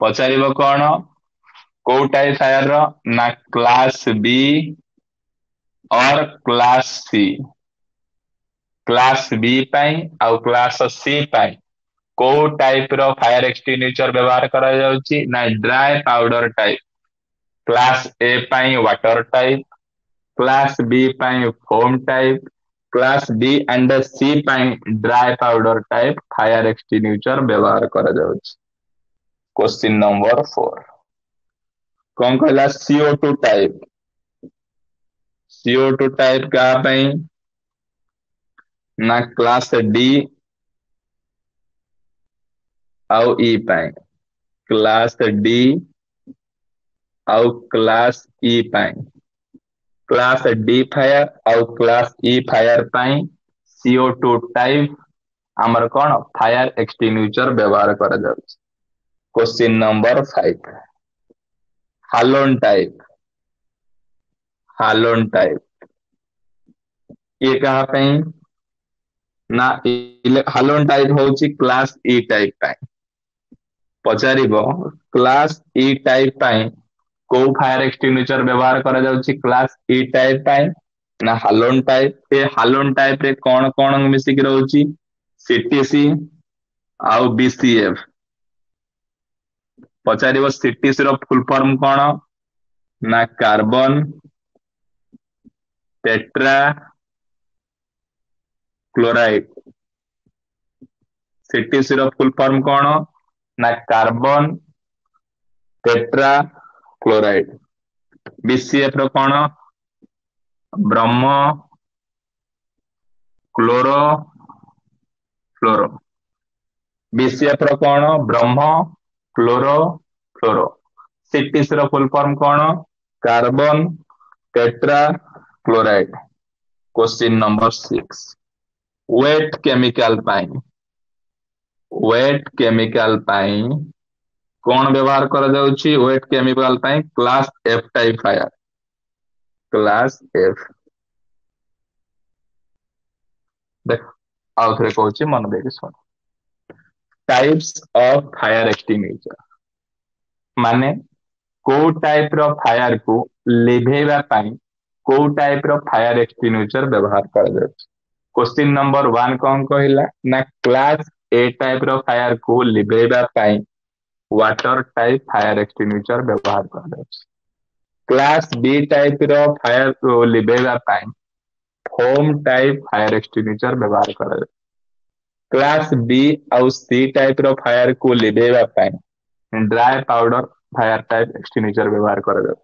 ପଚାରିବ କଣ କୋଉ ଟାଇପ ଫାୟାର ର? ନା କ୍ଲାସ ବି ଅର କ୍ଲାସ ସି। କ୍ଲାସ ବି ପାଇଁ ଆଉ କ୍ଲାସ ସି ପାଇଁ କୋଉ ଟାଇପ ର ଫାୟାର ଏକ୍ସଟିଂଗୁଇଚର ବ୍ୟବହାର କରାଯାଉଛି? ନା dry powder type. Class A ପାଇଁ ୱାଟର ଟାଇପ, କ୍ଲାସ ବି ପାଇଁ foam type, class B and C ପାଇଁ dry powder type fire extinguisher ବ୍ୟବହାର କରାଯାଉଛି। କ୍ୱେଶ୍ଚିନ୍ ନମ୍ବର 4 କଣ କହିଲା? CO2 type. CO2 type କାହା ପାଇଁ? ନା କ୍ଲାସ ଡି ଆଉ ଇ ପାଇଁ। କ୍ଲାସ ଡି ଆଉ କ୍ଲାସ ଇ ପାଇଁ, କ୍ଲାସ ଡି ଫାୟାର ଆଉ କ୍ଲାସ ଇ ଫାୟାର ପାଇଁ CO2 type ଆମର କଣ ଫାୟାର ଏକ୍ସଟିଂଗୁଇଚର ବ୍ୟବହାର କରାଯାଉଛି। Question number 5, halon type. Halon type ଇଏ କାହା ପାଇଁ? ନା ହାଲୋନ ଟାଇପ ହଉଛି କ୍ଲାସ ଇ ଟାଇପ ପାଇଁ। ପଚାରିବ କ୍ଲାସ ଇ ଟାଇପ ପାଇଁ କୋଉ ଫାୟାର ଏକ୍ସଟିଂଗୁଇଚର ବ୍ୟବହାର କରାଯାଉଛି କ୍ଲାସ ଇ ଟାଇପ ପାଇଁ? ନା ହାଲୋନ ଟାଇପ। ଏ ହାଲୋନ ଟାଇପ ରେ କଣ କଣ ମିଶିକି ରହୁଛି? ସିଟିସି ଆଉ ବିସିଏଫ। ପଚାରିବ ସିଟିସି ର ଫୁଲ ଫର୍ମ କଣ? ନା କାର୍ବନ Tetra chloride. CTC ର ଫୁଲ ଫର୍ମ କଣ ନା କାର୍ବନ ଟେଟ୍ରା କ୍ଲୋରାଇଡ। ବିସିଏଫ ର କଣ? ବ୍ରହ୍ମ କ୍ଲୋରୋ ଫ୍ଲୋରୋ। ବିସିଏଫ ର କଣ? ବ୍ରହ୍ମ କ୍ଲୋରୋ ଫ୍ଲୋରୋ। ସିଟିସି ର ଫୁଲ ଫର୍ମ କଣ? Carbon tetra chloride. Question number 6, wet chemical ପାଇଁ, ୱେଟ୍ କେମିକାଲ ପାଇଁ କଣ ବ୍ୟବହାର କରାଯାଉଛି? ୱେଟ୍ କେମିକାଲ ପାଇଁ class F type fire, class F. ଦେଖ ଆଉ ଥରେ କହୁଛି, ମନ ଦେଇକି ଶୁଣ। ଟାଇପ୍ସ ଅଫ ଫାୟାର ଏକ୍ସଟିଙ୍ଗୁଇସର ମାନେ କୋଉ ଟାଇପ ର ଫାୟାର କୁ ଲିଭେଇବା ପାଇଁ କୋଉ ଟାଇପ ର ଫାୟାର ଏକ୍ସଟିଙ୍ଗୁଇସର ବ୍ୟବହାର କରାଯାଉଛି। କ୍ୱେଶ୍ଚିନ୍ ନମ୍ବର 1 କଣ କହିଲା ନା କ୍ଲାସ ଏ ଟାଇପ ର ଫାୟାର କୁ ଲିଭେଇବା ପାଇଁ ୱାଟର ଟାଇପ ଫାୟାର ଏକ୍ସଟିଙ୍ଗୁଇସର ବ୍ୟବହାର କରାଯାଉଛି। କ୍ଲାସ ବି ଟାଇପ ର ଫାୟାର କୁ ଲିଭେଇବା ପାଇଁ ଫୋମ ଟାଇପ ଫାୟାର ଏକ୍ସଟିଙ୍ଗୁଇସର ବ୍ୟବହାର କରାଯାଉଛି। କ୍ଲାସ ବି ଆଉ ସି ଟାଇପ ର ଫାୟାର କୁ ଲିଭେଇବା ପାଇଁ dry powder fire type extinguisher ବ୍ୟବହାର କରାଯାଉଛି।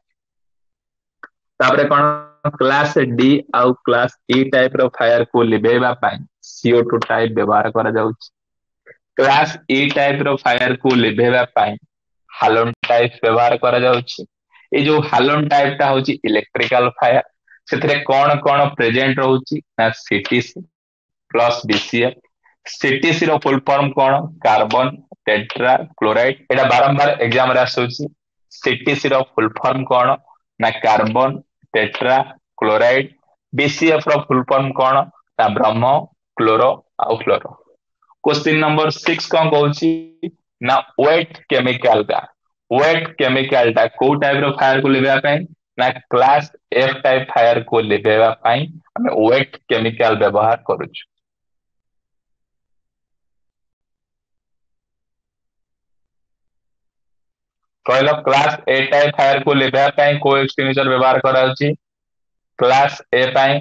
ତାପରେ କଣ କ୍ଲାସ ଡି ଆଉ କ୍ଲାସ ଇ ଟାଇପ ର ଫାୟାର କୁ ଲିଭେଇବା ପାଇଁ CO2 type ବ୍ୟବହାର କରାଯାଉଛି। କ୍ଲାସ ଇ ଟାଇପ ର ଫାୟାର କୁ ଲିଭେଇବା ପାଇଁ ହାଲୋନ ଟାଇପ ବ୍ୟବହାର କରାଯାଉଛି। ଏଇ ଯୋଉ ହାଲୋନ ଟାଇପ ଟା ହଉଛି ଇଲେକ୍ଟ୍ରିକାଲ ଫାୟାର, ସେଥିରେ କଣ କଣ ପ୍ରେଜେଣ୍ଟ ରହୁଛି ନା ସିଟିସି ପ୍ଲସ ବିସିଏଫ। ସିଟିସି ର ଫୁଲ ଫର୍ମ କଣ? Carbon tetra chloride. ଏଇଟା ବାରମ୍ବାର ଏକ୍ଜାମ ରେ ଆସୁଛି। ସିଟିସି ର ଫୁଲ ଫର୍ମ କଣ ନା କାର୍ବନ ଟେଟ୍ରା କ୍ଲୋରାଇଡ। ବିସିଏଫ ର ଫୁଲ ଫର୍ମ କଣ ନା ବ୍ରହ୍ମ କ୍ଲୋରୋ ଆଉ ଫ୍ଲୋରୋ। କ୍ୱେଶ୍ଚିନ୍ ନମ୍ବର 6 କଣ କହୁଛି ନା ୱେଟ୍ କେମିକାଲ ଟା, ୱେଟ୍ କେମିକାଲ ଟା କୋଉ ଟାଇପ ର ଫାୟାର କୁ ଲିଭେଇବା ପାଇଁ ନା କ୍ଲାସ ଏଫ ଟାଇପ ଫାୟାର କୁ ଲିଭେଇବା ପାଇଁ ଆମେ ୱେଟ୍ କେମିକାଲ ବ୍ୟବହାର କରୁଛୁ। କହିଲ କ୍ଲାସ ଏ ଟାଇପ ଫାୟାର କୁ ଲିଭେଇବା ପାଇଁ କୋଉ ଏକ୍ସଟିଙ୍ଗୁଇସର ବ୍ୟବହାର କରାଯାଉଛି? କ୍ଲାସ ଏ ପାଇଁ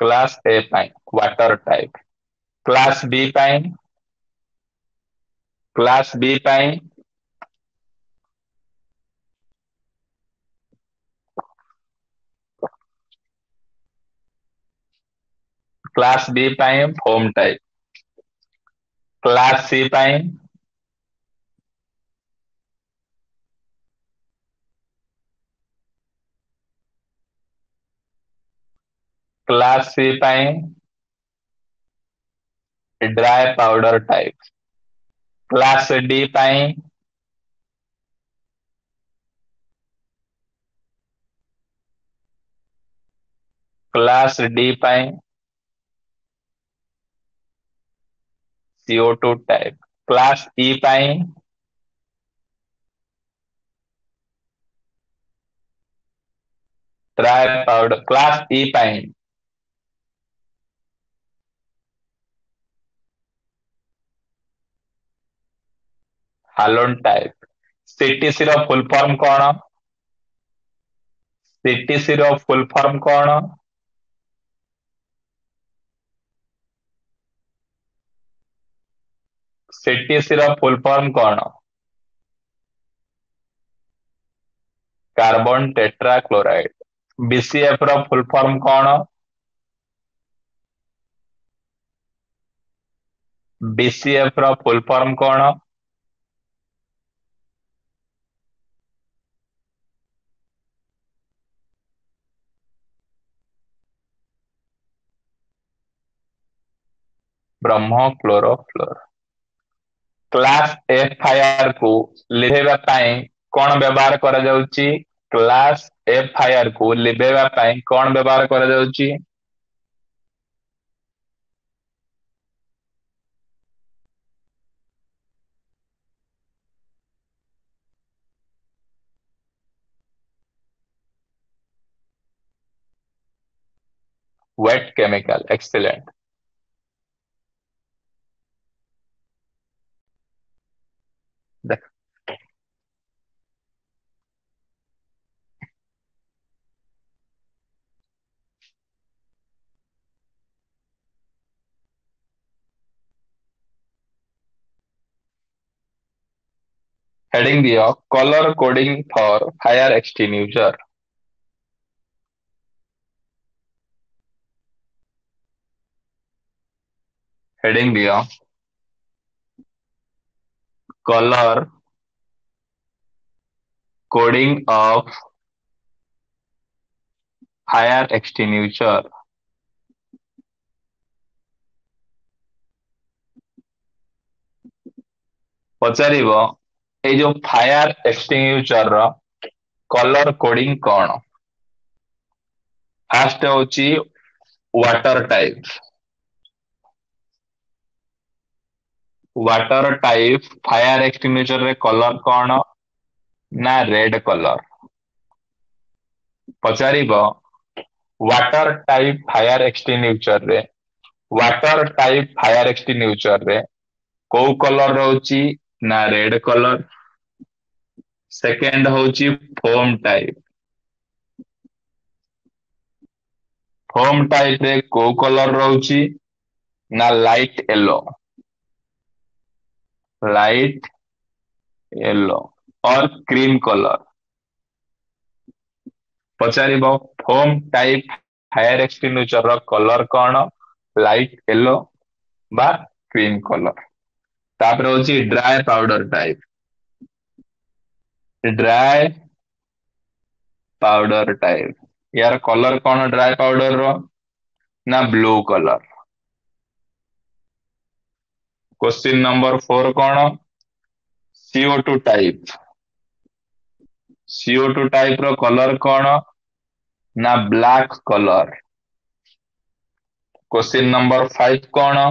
କ୍ଲାସ ଏ ପାଇଁ ୱାଟର ଟାଇପ। କ୍ଲାସ ବି ପାଇଁ, କ୍ଲାସ ବି ପାଇଁ କ୍ଲାସ ବି ପାଇଁ ଫୋମ ଟାଇପ। କ୍ଲାସ ସି ପାଇଁ କ୍ଲାସ ସି ପାଇଁ dry powder type. Class D ପାଇଁ କ୍ଲାସ ଡି ପାଇଁ CO2 type. Class E ପାଇଁ ଡ୍ରାଏ ପାଉଡର। କ୍ଲାସ ଇ ପାଇଁ ହାଲୋନ ଟାଇପ। ସିଟିସି ର ଫୁଲ ଫର୍ମ କଣ? ସିଟିସି ର ଫୁଲ ଫର୍ମ କଣ? ସିଟିସି ର ଫୁଲ ଫର୍ମ କଣ? Carbon tetra chloride. BCF ର ଫୁଲ ଫର୍ମ କଣ? ବିସିଏଫ ର ଫୁଲ ଫର୍ମ କଣ? ବ୍ରହ୍ମ କ୍ଲୋରୋଫ୍ଲୋର। କ୍ଲାସ ଏଫ ଫାୟାର କୁ ଲିଭେଇବା ପାଇଁ କଣ ବ୍ୟବହାର କରାଯାଉଛି? କ୍ଲାସ ଏଫ ଫାୟାର କୁ ଲିଭେଇବା ପାଇଁ କଣ ବ୍ୟବହାର କରାଯାଉଛି? Wet chemical. Excellent. ହେଡିଙ୍ଗ ଦିଅ, colour coding for fire extinguisher। Heading ଦିଅ, colour coding of fire extinguisher। ପଚାରିବ, ଏଇ ଯୋଉ ଫାୟାର ଏକ୍ସଟିଙ୍ଗୁଇଚର ର କଲର କୋଡିଂ କଣ? ଫାଷ୍ଟ ହଉଛି water type। Water type fire extinguisher ରେ କଲର କଣ? ନା ରେଡ କଲର। ପଚାରିବ, ୱାଟର ଟାଇପ ଫାୟାର ଏକ୍ସଟିଙ୍ଗୁଇଚର ରେ, ୱାଟର ଟାଇପ ଫାୟାର ଏକ୍ସଟିଙ୍ଗୁଇଚର ରେ କୋଉ କଲର ରହୁଛି? ନା ରେଡ କଲର। ସେକେଣ୍ଡ ହଉଛି ଫୋମ ଟାଇପ। ଫୋମ ଟାଇପ ରେ କୋଉ କଲର ରହୁଛି? ନା light yellow, light yellow or cream colour। ପଚାରିବ, ଫୋମ ଟାଇପ ଫାୟାର ଏକ୍ସଟିଙ୍ଗୁଇଚର ର କଲର କଣ? ଲାଇଟ ୟେଲୋ ବା କ୍ରିମ କଲର। ତାପରେ ହଉଛି dry powder type। Dry powder type, ୟାର କଲର କଣ ଡ୍ରାଏ ପାଉଡର ର? ନା ବ୍ଲୁ କଲର। କ୍ୱେଶ୍ଚିନ୍ ନମ୍ବର 4 କଣ? CO2 type। CO2 type ର କଲର କଣ? ନା ବ୍ଲାକ୍ କଲର। କ୍ୱେଶ୍ଚିନ୍ ନମ୍ବର 5 କଣ?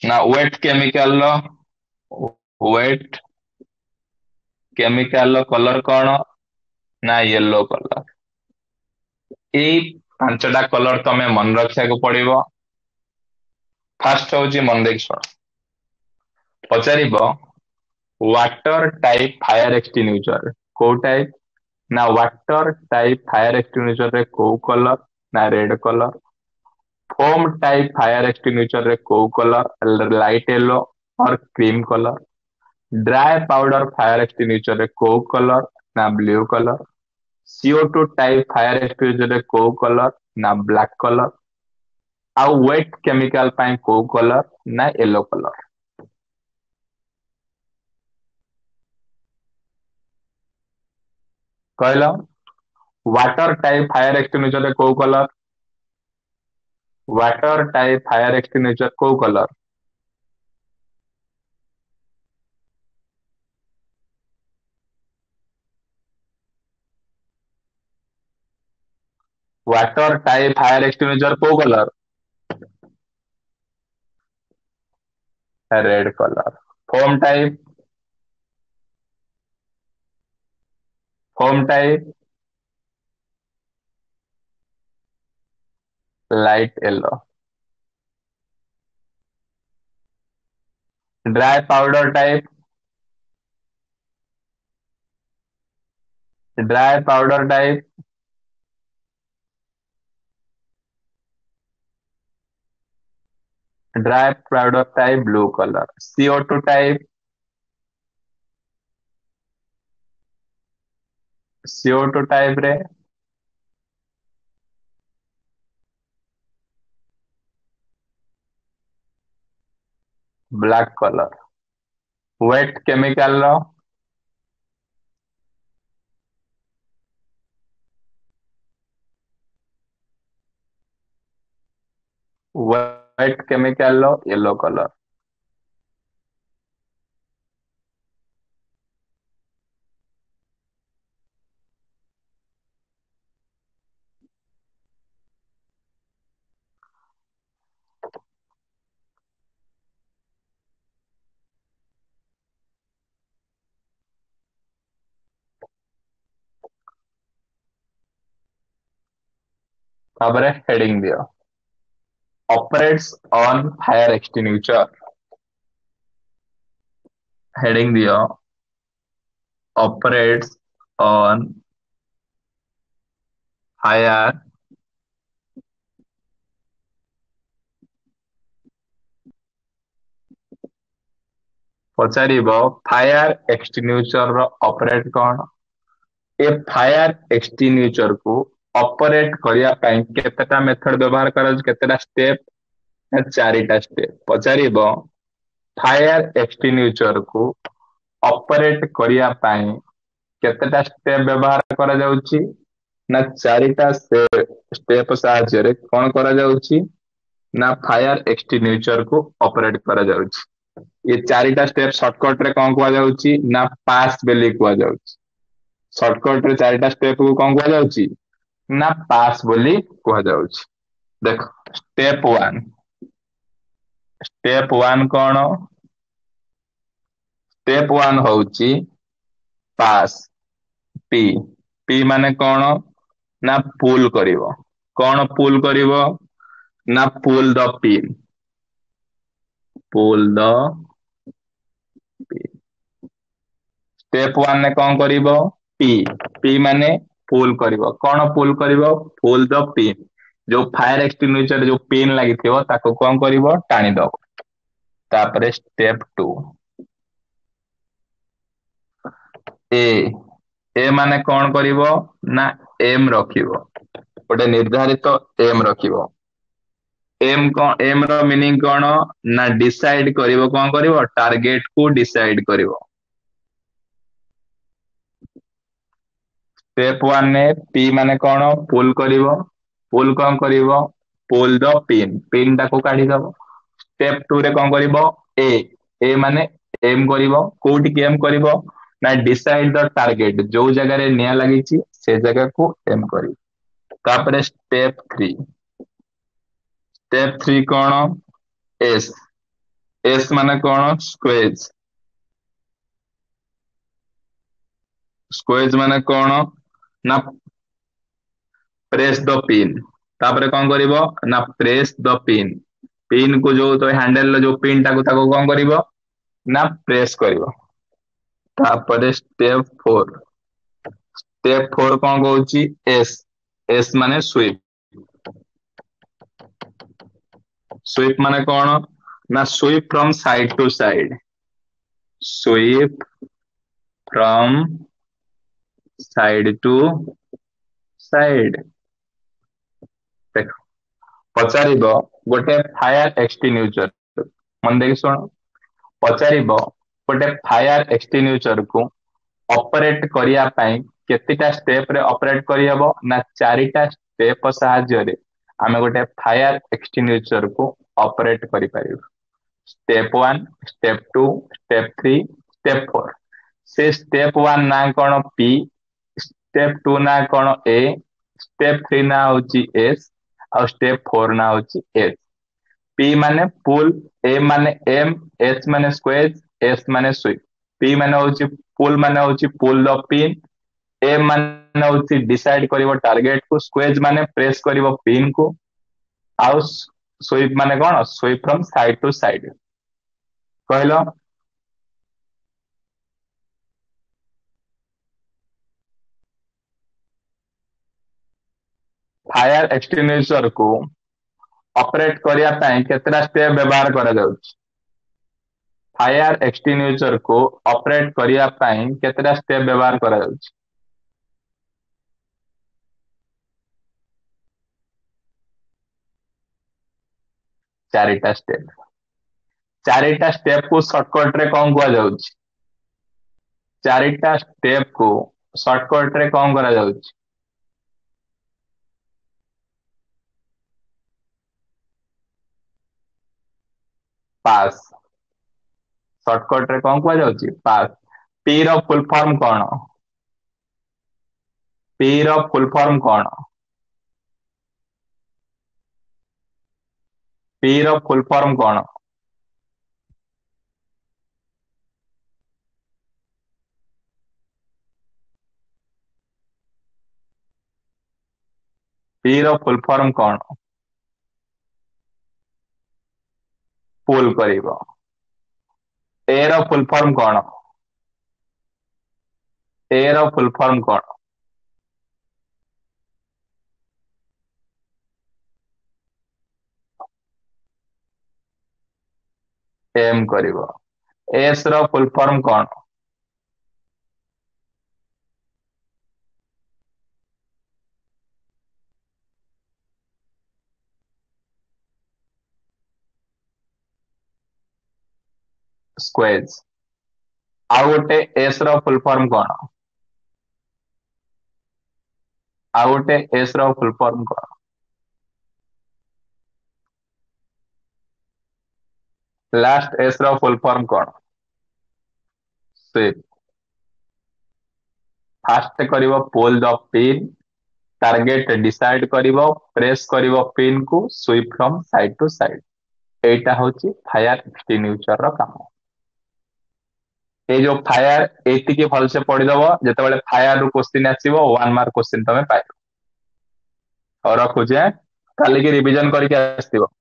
ନା ୱେଟ୍ କେମିକାଲ ର, ୱେଟ୍ କେମିକାଲ ର କଲର କଣ? ନା ୟେଲୋ କଲର। ଏଇ ପାଞ୍ଚଟା କଲର ତମେ ମନେ ରଖିବାକୁ ପଡିବ। ଫାଷ୍ଟ ହଉଛି, ମନେ ଦେଇକି ଶୁଣ, ପଚାରିବ ୱାଟର ଟାଇପ ଫାୟାର ଏକ୍ସଟିଙ୍ଗୁଇଚର କୋଉ ଟାଇପ? ନା ୱାଟର ଟାଇପ ଫାୟାର ଏକ୍ସଟିଙ୍ଗୁଇଚର ରେ କୋଉ କଲର? ନା red colour. Foam type fire extinguisher ରେ କୋଉ colour? Light yellow or cream colour। Dry powder fire extinguisher ରେ କୋଉ କଲର? ନା blue colour। CO2 type fire extinguisher ରେ କୋଉ କଲର? ନା ବ୍ଲାକ୍ କଲର। ଆଉ ୱେଟ୍ କେମିକାଲ ପାଇଁ କୋଉ କଲର? ନା ୟେଲୋ କଲର। କହିଲ, ୱାଟର ଟାଇପ ଫାୟାର ଏକ୍ସଟିଙ୍ଗୁଇଚର ରେ କୋଉ colour? Water type fire extinguisher କୋଉ colour? Water type fire extinguisher କୋଉ colour? Red colour। Foam type, foam type light yellow। Dry powder type, dry powder type dry powder type blue colour। CO2 type, CO2 type ରେ black colour. Wait chemical ର, wait chemical ର yellow colour. ତାପରେ heading ଦିଅ, operates on fire extinguisher। Heading ଦିଅ, operates on fire ପଚାରିବ fire ଏକ୍ସଟିନ୍ୟୁଚର ର operate କଣ? ଏ fire ଏକ୍ସଟିନ୍ୟୁଚର କୁ ଅପରେଟ କରିବା ପାଇଁ କେତେଟା ମେଥଡ ବ୍ୟବହାର କରାଯାଉଛି, କେତେଟା ଷ୍ଟେପ? ନା ଚାରିଟା ଷ୍ଟେପ। ପଚାରିବ ଫାୟାର ଏକ୍ସଟିନ୍ୟୁଚର କୁ ଅପରେଟ କରିବା ପାଇଁ କେତେଟା ଷ୍ଟେପ ବ୍ୟବହାର କରାଯାଉଛି? ନା ଚାରିଟା ଷ୍ଟେପ ସାହାଯ୍ୟରେ କଣ କରାଯାଉଛି? ନା ଫାୟାର ଏକ୍ସଟିନ୍ୟୁଚର କୁ ଅପରେଟ କରାଯାଉଛି। ଏ ଚାରିଟା ଷ୍ଟେପ ସର୍ଟକଟ ରେ କଣ କୁହାଯାଉଛି? ନା ପାସ୍ ବୋଲି କୁହାଯାଉଛି। ସର୍ଟକଟ ରେ ଚାରିଟା ଷ୍ଟେପ କୁ କଣ କୁହାଯାଉଛି? ନା ପାସ୍ ବୋଲି କୁହାଯାଉଛି। ଦେଖ, ଷ୍ଟେପ ୱାନ୍। ଷ୍ଟେପ ୱାନ୍ କଣ? ଷ୍ଟେପ ୱାନ୍ ହଉଛି ପାସ୍। ପି, ପି ମାନେ କଣ? ନା ପୁଲ କରିବ। କଣ ପୁଲ କରିବ? ନା pull the pin, pull the pin. Step one ରେ କଣ କରିବ? ପି, ପି ମାନେ ପୁଲ କରିବ। କଣ ପୁଲ କରିବ? ପୁଲ ଦ ପିନ୍। ଯୋଉ ଫାୟାର ଏକ୍ସଟିନ୍ୟୁଚର ଯୋଉ ପିନ୍ ଲାଗିଥିବ, ତାକୁ କଣ କରିବ? ଟାଣିଦବ। ତାପରେ ଷ୍ଟେପ ଟୁ, ଏ, ଏ ମାନେ କଣ କରିବ? ନା ଏମ ରଖିବ, ଗୋଟେ ନିର୍ଦ୍ଧାରିତ ଏମ ରଖିବ। ଏମ କଣ? ଏମ ର ମିନିଂ କଣ? ନା ଡିସାଇଡ କରିବ। କଣ କରିବ? ଟାର୍ଗେଟ କୁ ଡିସାଇଡ କରିବ। ଷ୍ଟେପ ୱାନ୍ ରେ ପି ମାନେ କଣ? ପୁଲ କରିବ। ପୁଲ କଣ କରିବ? ପୁଲ ଦ ପିନ୍, ପିନ୍ ଟାକୁ କାଢିଦବ। ଷ୍ଟେପ ଟୁ ରେ କଣ କରିବ? ଏ, ଏ ମାନେ ଏମ କରିବ। କୋଉଠିକି ଏମ କରିବ? ନା ଡିସାଇଡ ଦ ଟାର୍ଗେଟ, ଯୋଉ ଜାଗାରେ ନିଆଁ ଲାଗିଛି ସେ ଜାଗାକୁ ଏମ କରିବ। ତାପରେ ଷ୍ଟେପ ଥ୍ରୀ। ଷ୍ଟେପ ଥ୍ରୀ କଣ? ଏସ୍, ଏସ୍ ମାନେ କଣ? ସ୍କ୍ୱେଜ। ସ୍କ୍ୱେଜ ମାନେ କଣ? ନା ପ୍ରେସ ଦ ପିନ୍। ତାପରେ କଣ କରିବ? ନା ପ୍ରେସ ଦ ପିନ୍। ପିନ୍ କୁ ଯୋଉ ହ୍ୟାଣ୍ଡେଲ ଯୋଉ ପିନ୍ ଟାକୁ, ତାକୁ କଣ କରିବ? ନା ପ୍ରେସ କରିବ। ତାପରେ ଷ୍ଟେପ ଫୋର। ଷ୍ଟେପ ଫୋର କଣ କହୁଛି? ଏସ୍, ଏସ୍ ମାନେ ସ୍ୱିପ୍। ସ୍ୱିପ୍ ମାନେ କଣ? ନା sweep from side to side, sweep from side to side. ଦେଖ, ପଚାରିବ ଗୋଟେ ଫାୟାର ଏକ୍ସଟିନ୍ୟୁଚର, ମନ ଦେଇକି ଶୁଣ, ପଚାରିବ ଗୋଟେ ଫାୟାର ଏକ୍ସଟିନ୍ୟୁଚର କୁ ଅପରେଟ କରିବା ପାଇଁ କେତେଟା ଷ୍ଟେପ ରେ ଅପରେଟ କରିହବ? ନା ଚାରିଟା ଷ୍ଟେପ ସାହାଯ୍ୟରେ ଆମେ ଗୋଟେ ଫାୟାର ଏକ୍ସଟିନ୍ୟୁଚର କୁ ଅପରେଟ କରିପାରିବୁ। Step one, step two, step three, step four. ସେ ଷ୍ଟେପ ୱାନ୍ ନାଁ କଣ? ପି। ଷ୍ଟେପ ଟୁ ନାଁ କଣ? ଏ। ଷ୍ଟେପ ଥ୍ରୀ ନାଁ ହଉଛି ଏସ୍, ଆଉ ଷ୍ଟେପ ଫୋର ନାଁ ହଉଛି ଏସ୍। ପି ମାନେ ପୁଲ, ଏ ମାନେ ଏମ, ଏସ୍ ମାନେ ସ୍କ୍ୱେଜ, ଏସ୍ ମାନେ ସୁଇପ୍। ପି ମାନେ ହଉଛି ପୁଲ, ମାନେ ହଉଛି ପୁଲ ଦ ପିନ୍। ଏ ମାନେ ହଉଛି ଡିସାଇଡ କରିବ ଟାର୍ଗେଟ କୁ, ସ୍କ୍ୱେଜ ମାନେ ପ୍ରେସ କରିବ ପିନ୍ କୁ, ଆଉ ସୁଇପ୍ ମାନେ କଣ? Sweep from side to side. କହିଲ। ଫାୟାର ଏକ୍ସଟିନ୍ୟୁଚର କୁ ଅପରେଟ କରିବା ପାଇଁ କେତେଟା ଷ୍ଟେପ ବ୍ୟବହାର କରାଯାଉଛି? ଫାୟାର ଏକ୍ସଟିନ୍ୟୁଚର କୁ ଅପରେଟ କରିବା ପାଇଁ କେତେଟା ଷ୍ଟେପ ବ୍ୟବହାର କରାଯାଉଛି? ଚାରିଟା ଷ୍ଟେପ। ଚାରିଟା ଷ୍ଟେପ କୁ ସର୍ଟକଟ ରେ କଣ କୁହାଯାଉଛି? ଚାରିଟା ଷ୍ଟେପ କୁ ସର୍ଟକଟ ରେ କଣ କରାଯାଉଛି? ପାସ୍। ସର୍ଟକଟ ରେ କଣ କୁହାଯାଉଛି? ପାସ୍। ପି ର ଫୁଲ ଫର୍ମ କଣ? ପି ର ଫୁଲ ଫର୍ମ କଣ? ପି ର ଫୁଲ ଫର୍ମ କଣ? ପି ର ଫୁଲ ଫର୍ମ କଣ? ପୁଲ କରିବ। ଏ ର ଫୁଲ ଫର୍ମ କଣ? ଏ ର ଫୁଲ ଫର୍ମ କଣ? ଏମ କରିବ। ଏସ୍ ର ଫୁଲ ଫର୍ମ କଣ? ସ୍କ୍ୱେଜ। ଆଉ ଗୋଟେ ଏସ୍ ର ଫୁଲ ଫର୍ମ କଣ? ଆଉ ଗୋଟେ ଏସ୍ ର ଫୁଲ ଫର୍ମ କଣ? ଲାଷ୍ଟ ଏସ୍ ର ଫୁଲ ଫର୍ମ କଣ? ସ୍ୱିପ୍। ଫାଷ୍ଟ କରିବ pull the pin, target decide କରିବ, ପ୍ରେସ୍ କରିବ ପିନ୍ କୁ, sweep from side to side. ଏଇଟା ହଉଛି ଫାୟାର ଏକ୍ସଟିନ୍ୟୁଚର ର କାମ। ଏଇ ଯୋଉ ଫାୟାର ଏଇତିକି ଭଲସେ ପଢିଦବ, ଯେତେବେଳେ ଫାୟାର ରୁ କୋଶ୍ଚିନ୍ ଆସିବ 1 ମାର୍କ କୋଶ୍ଚିନ୍ ତମେ ପାଇବ। ହଉ ରଖୁଛି, କାଲିକି ରିଭିଜନ କରିକି ଆସିଥିବ।